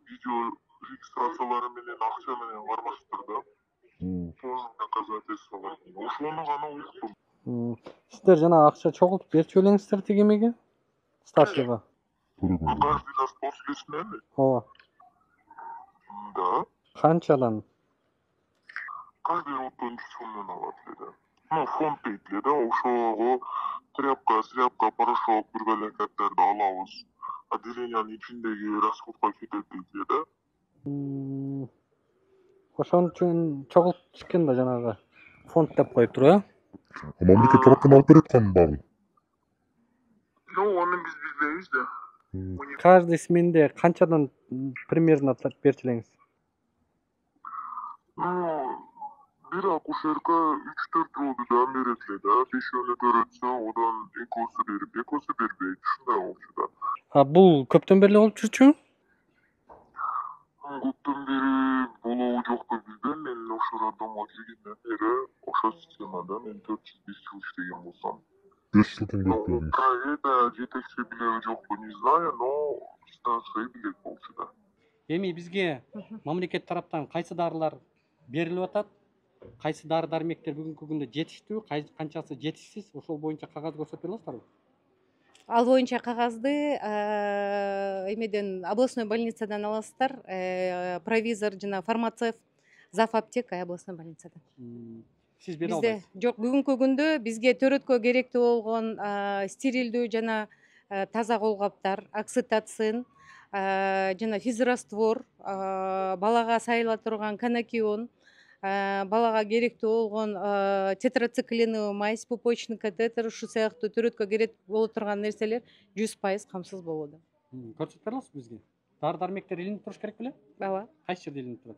видео регистрациялары менен акча менен кармаштыр да. Полный доказательство бар. Ошону гана уктум. Сиздер жана акча чогултуп берчү белеңиздер тигимеге? Ставкага. Каждый раз после смены? Ооба. Да. Канчадан? Каждый вот он сумму алат эле. Ну, фонд дейт эле да, ошого тряпка, сряпка, порошок, бир белекеттерди алабыз. Отделениянын ичиндеги расходко кетет дейт эле да. Ошон үчүн чогултуп экен да жанагы фонд деп коюп туруп, э? Мамлекет тараптан алып берет кан багы. Ну, аны биз билбейбиз да. Каждый сменде канчадан примерно берчү элеңиз? Ну, бир акушерка үч төрт жолду да берет эле да. Бешөөнү көрөтсө, одан экөөсү берип, экөөсү бербейт. Ушундай болчу да. А бул көптөн бери болуп жүрчү? Көптөн бери болобу жокпу билбейм. Мен ошо роддомго киргенден бери ошо системада мен төрт жүз беш жыл иштеген болсам. беш жылдан көп болду. Проекта жетекчи билеби жокпу, не знаю, но станция билет болчу да. Эми бизге мамлекет тараптан кайсы дарылар берилип атат? Кайсы дары дармектер бүгүнкү күндө жетиштүү, канчасы жетишсиз? Ошол боюнча кагаз көрсөтө аласыздарбы? Ал боюнча кагазды эмеден областной больницадан аласыздар. Провизор жана фармацевт, зав аптека областной больницадан. Сиз бере Бизде албайсыз? жок, бүгүнкү күндө бизге төрөткө керектүү болгон стерилдүү жана таза колгаптар, окситоцин жана физраствор, балага сайыла турган канакион, балага керектүү болгон тетрациклиновый мазь, пупочный катетер, ушу сыяктуу төрөткө керек боло турган нерселер жүз пайыз камсыз болууда. Көрсөтө бере аласызбы бизге? Дары дармектер илинип туруш керек беле? Ооба. Кайсы жерде илинип турат?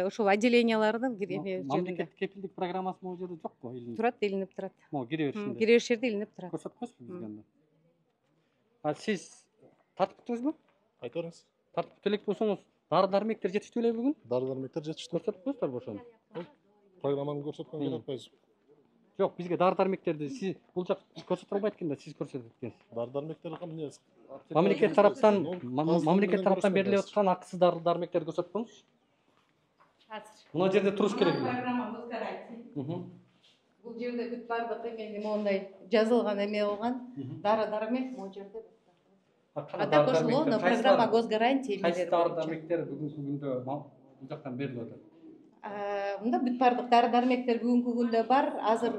Ошол отделениялардын жеринде. Мамлекеттик кепилдик программасы могу жерде жокпу? Турат, илинип турат. Могу кире беришинде. Кире бериш жерде илинип турат. Көрсөтүп коесузбу бизге анда? А сиз тартып күттүңүзбү? Айта бериңиз. Тартып күтө элек болсоңуз, дары дармектер жетиштүү эле бүгүн? Дары дармектер жетиштүү. Көрсөтүп коесуздарбы ошону? Программаны көрсөткөн керек атпайсызбы? Жок, бизге дары дармектерди сиз бул жак көрсөтө албайт экен да, сиз көрсөтөт экенсиз. Дары дармектер эмне? Мамлекет тараптан мамлекет тараптан берилип аткан акысыз дары дармектерди көрсөтүп коюңуз. Мына жерде туруш керек. Программабыз гарантий. Бул жерде бүт бардык эме моундай жазылган эме болгон. Дары дармек могу жерде. А так ошол программа госгарантии. Кайсы дары дармектер бүгүнкү күндө бул жактан берилип атат? Мында бүт бардык дары дармектер бүгүнкү күндө бар. Азыр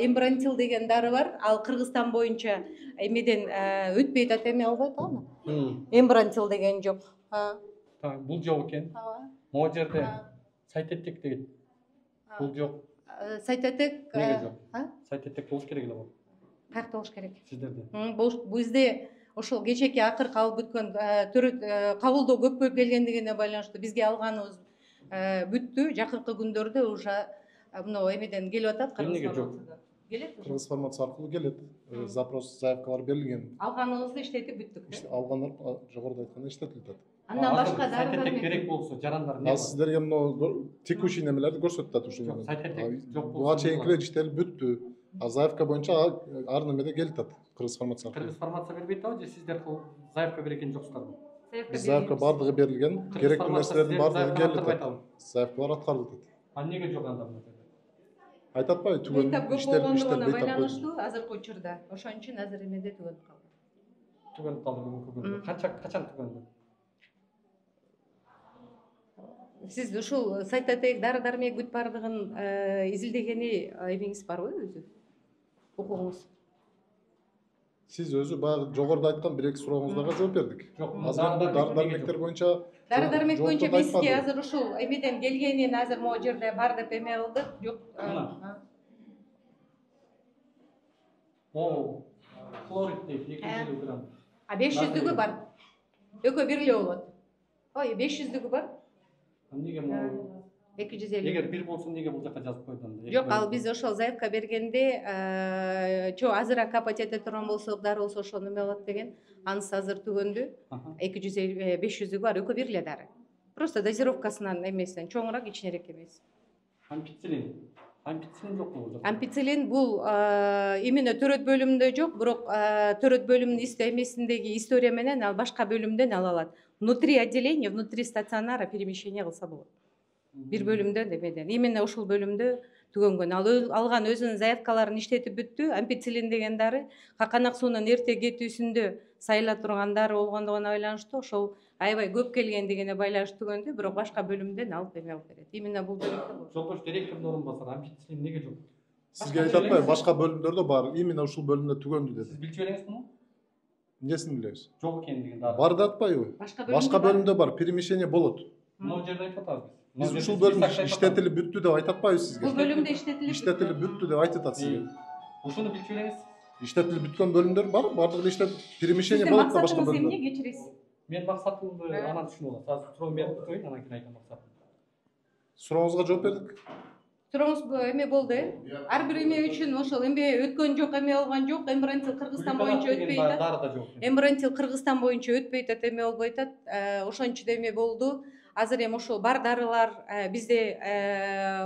эмбрантил деген дары бар. Ал Кыргызстан боюнча эмеден өтпөйт атат, эме албайт аны. Эмбрантил деген жок. Бул жок экен. Могу жерде сайтетек деген. Бул жок. Сайтетек. Неге жок? Сайтетек болуш керек эле бул. Каякта болуш керек? Сиздерде. Бизде ошол кечээки акыркы алып бүткөн кабылдоо көп болуп келгендигине байланыштуу бизге алганыбыз бүттү. Жакынкы күндөрдө уже мына эмеден келип атат. Эмнеге жок? Келет. Кыргыз фармация аркылуу келет. Запрос, заявкалар берилген. Алганыбызды иштетип бүттүк. Алгандар жогоруда айтканда иштетилип атат. Андан башка сайтетек керек болсо жарандар эмне? Ал сиздерге мына текущий немелерди көрсөтүп атат ушул. Жок, сайтетек жок болсо. Буга чейинкилер иштелип бүттү. А заявка боюнча ар немеде келип атат. Кыргыз фармация аркылуу. Кыргыз фармация бербейт абы же сиздер заявка берген жоксуздарбы? Биз заявка бардыгы берилген, керектүү нерселердин бардыгы келип атат. Заявкалар аткарылып атат. А эмнеге жок анда мына жерде? Айтып атпайбы, түгөн иштелип иштелип байланыштуу азыркы учурда. Ошон үчүн азыр эмеде түгөнүп калды. Түгөнүп калды бүгүнкү күндө. Канча качан түгөндү? Сиз ушул сайтетек дары дармек бүт бардыгын изилдегени эмеңиз барбы өзү? Укугуңуз? Сиз өзү баягы жогоруда айткан бир эки сурооңуздарга жооп бердик. Азыр дары дармектер боюнча дары дармек боюнча бизге азыр ушул эмеден келгенин азыр могу жерде бар деп эме кылдык. Жок. О, хлорид дейт эки жүз элүү грамм. А беш жүздүгү бар. Экөө бир эле болот. Ой, беш жүздүгү бар. Эмнеге могу эки жүз элүү? Эгер бир болсо эмнеге бул жака жазып койду анда? Жок, ал биз ошол заявка бергенде чо азыраак капать эте турган болсок, дары болсо ошол эме болот деген. Анысы азыр түгөндү. эки жүз элүү беш жүздүгү бар, экөө бир эле дары. Просто дозировкасынан эмесинен чоңураак, ичинерээк эмес. Ампицилин. Ампицилин жокпу? Ампицилин бул именно төрөт бөлүмүндө жок, бирок төрөт бөлүмүнүн эмесиндеги история менен ал башка бөлүмдөн ала алат. Внутри отделения, внутри стационара перемещение кылса болот. Бир бөлүмдөн эмеден. Именно ушул бөлүмдө түгөнгөн. Ал алган өзүнүн заявкаларын иштетип бүттү. Ампицилин деген дары каканак суунун эрте кетүүсүндө сайыла турган дары болгондугуна байланыштуу ошол аябай көп келгендигине байланыштуу түгөндү, бирок башка бөлүмдөн алып эме алып берет. Именно бул бөлүмдө. Жолдош директордун орун басары ампицилин эмнеге жок? Сизге айтып атпайбы, башка бөлүмдөрдө бар, именно ушул бөлүмдө түгөндү деди. Сиз билчү элеңиз муну? Эмнесин билебиз? Жок экендигин дары. Бар да атпайбы? Башка бөлүмдө бар, перемещение болот. Могу жерде айтып атабыз. Биз ушул бөлүм иштетилип бүттү деп айтып атпайбыз сизге? Бул бөлүмдө иштетилип иштетилип бүттү деп айтып атат сизге. Ушуну билчү элеңиз? Иштетилип бүткөн бөлүмдөр бар, бардыгы иштеп перемещение болот да башка бөлүмдө. Эмне кечиресиз? Мен максатымды анан түшүнүп алам. Азыр суроо берип коеюн, анан кийин айтам максатымды. Сурооңузга жооп бердик. Сурооңуз эме болду, э? Ар бир эме үчүн ошол эме өткөн жок, эме болгон жок, Эмбрантил Кыргызстан боюнча өтпөй атат. Эмбрантил Кыргызстан боюнча өтпөй атат, эме болбой атат. Ошончу да эме болду. Азыр эми ошол бар дарылар бизде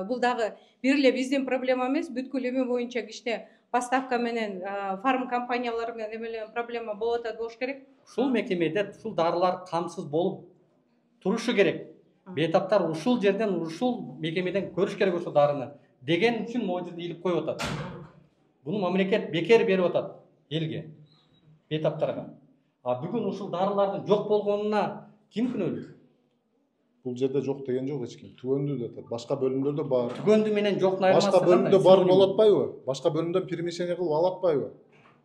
бул дагы бир эле биздин проблема эмес, бүткүл эме боюнча кичине поставка менен фарм компаниялар менен эме проблема болуп атат болуш керек. Ушул мекемеде ушул дарылар камсыз болуп турушу керек. Бейтаптар ушул жерден, ушул мекемеден көрүш керек ошол дарыны деген үчүн могу жерде илип коюп атат. Буну мамлекет бекер берип атат элге, бейтаптарга. А бүгүн ушул дарылардын жок болгонуна ким күнөөлүү? Бул жерде жок деген жок эч ким. Түгөндү деп атат. Башка бөлүмдөрдө бар. Түгөндү менен жоктун айырмасы кандай? Башка бөлүмдө бар болуп атпайбы? Башка бөлүмдөн перемещение кылып алып атпайбы?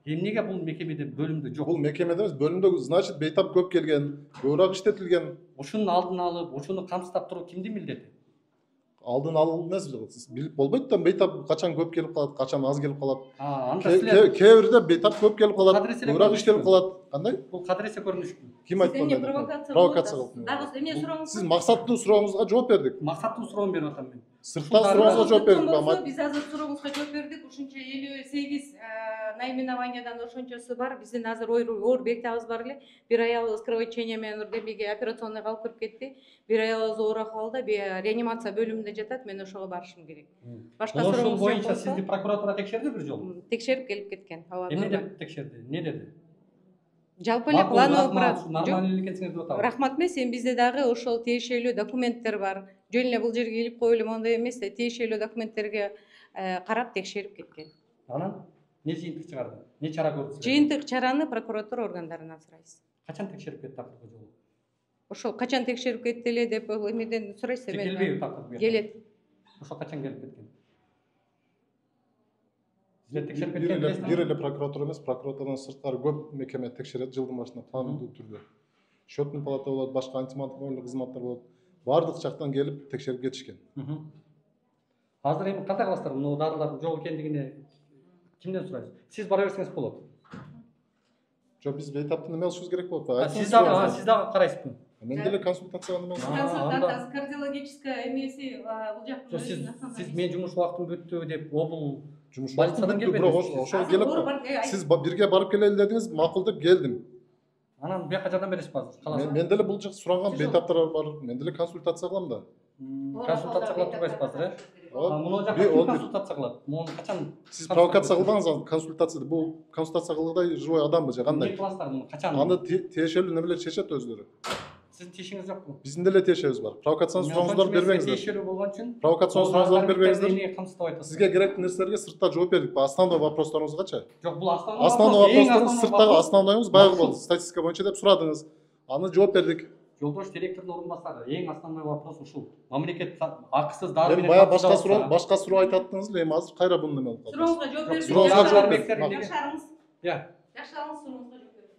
Эмнеге бул мекемеде бөлүмдө жок? Бул мекемеде эмес, бөлүмдө значит бейтап көп келген, көбүрөөк иштетилген. Ушунун алдын алып, ушуну камсыздап туруу кимдин милдети? Алдын алуу эмес, билип болбойт да, бейтап качан көп келип калат, качан аз келип калат. Анда силер Кээ бирде бейтап көп келип калат, көбүрөөк иштелип калат. Кандай? Бул кадыресе көрүнүшпү? Ким айткан? Провокация кылып. Дагы эмне сурооңуз? Сиз максаттуу сурооңузга жооп бердик. Максаттуу суроону берип атам мен. Сырттан сурооңузга жооп бердик. Биз азыр сурооңузга жооп бердик. Ушунча элүү сегиз наименованиядан ошончосу бар. Биздин азыр оор бектебиз бар эле. Бир аялыбыз кровотечение менен демеге операционныйга алып кирип кетти. Бир аялыбыз оор акыбалда реанимация бөлүмүндө жатат. Мен ошого барышым керек. Башка сурооңуз ошол боюнча сизди прокуратура текшерди бир жолу? Текшерип келип кеткен. Эмне деп текшерди? Эмне деди? Жалпы эле плановый нормалдуу эле экенсиңер деп атабы. Рахмат эмес, эми бизде дагы ошол тиешелүү документтер бар. Жөн эле бул жерге илип коюп эле моундай эмес, тиешелүү документтерге карап текшерип кеткен. Анан эмне жыйынтык чыгарды? Эмне чара көрдүңүз? Жыйынтык чараны прокуратура органдарынан сурайсыз. Качан текшерип кетти акыркы жолу? Ошол качан текшерип кетти эле деп эмеден сурайсыз. Келбейби акыркы? Келет. Ошол качан келип кеткен? Текшерип Бир эле бир эле прокуратура эмес, прокуратурадан сырткары көп мекеме текшерет жылдын башында пландуу түрдө. Счетный палата болот, башка антимонопольдук кызматтар болот. Бардык жактан келип текшерип кетишкен. Азыр эми кандай кыласыздар? Муну дарылардын жок экендигине кимден сурайсыз? Сиз бара берсеңиз болот. Жок, биз бейтаптын эме алышыбыз керек болот. Сиз дагы, сиз дагы карайсызбы? Мен деле консультацияга эме Консультант кардиологическая эмеси бул жактын. Сиз сиз мен жумуш убактым бүттү деп обул жумуш убактым бүттү, бирок ошол келип сиз бирге барып келели дедиңиз, макул деп келдим. Анан бияка жардам бересизби азыр? Каласызбы? Мен деле бул жак суранган бейтаптар бар. Мен деле консультация кылам да. Консультация кылып турбайсызбы азыр, э? Муну жакка ким консультация кылат? Муну качан? Сиз провокация кылбаңыз консультацияда. Бул консультация кылгыдай живой адамбы же кандай? Эмне кыласыздар муну? Качан? Аны тиешелүү немелер чечет өздөрү. Сиздин тиешиңиз жокпу? Биздин деле тиешебиз бар. Провокациянын сурооңуздарды бербеңиздер. Тиешелүү болгон үчүн провокациянын сурооңуздарды бербеңиздер. Эмнеге камсыздап айтасыз? Сизге керектүү нерселерге сыртта жооп бердик. Основной вопростарыңызгачы? Жок, бул основной основной вопростарыңыз сырттагы основнойуңуз баягы болду. Статистика боюнча деп сурадыңыз. Аны жооп бердик. Жолдош директордун орун басары, эң основной вопрос ушул. Мамлекет акысыз дары менен бая башка суроо, башка суроо айтаттыңыз эле, эми азыр кайра буну неме кылып калдыңыз? Сурооңузга жооп бердик. Сурооңузга жооп бердик. Жакшырыңыз. Я. Жакшырыңыз, сурооңузга жооп бердик.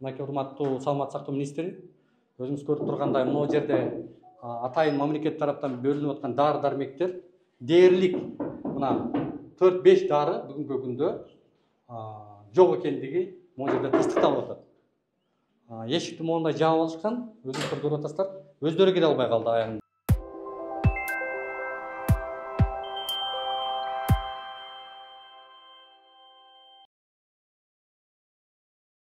Мынакей урматтуу саламаттык сактоо министри, өзүңүз көрүп тургандай могу жерде атайын мамлекет тараптан бөлүнүп аткан дары дармектер дээрлик мына төрт беш дары бүгүнкү күндө жок экендиги могу жерде тастыкталып атат. Эшикти моундай жаап алышкан, өзүңүздөр көрүп атасыздар, өздөрү келе албай калды аягында.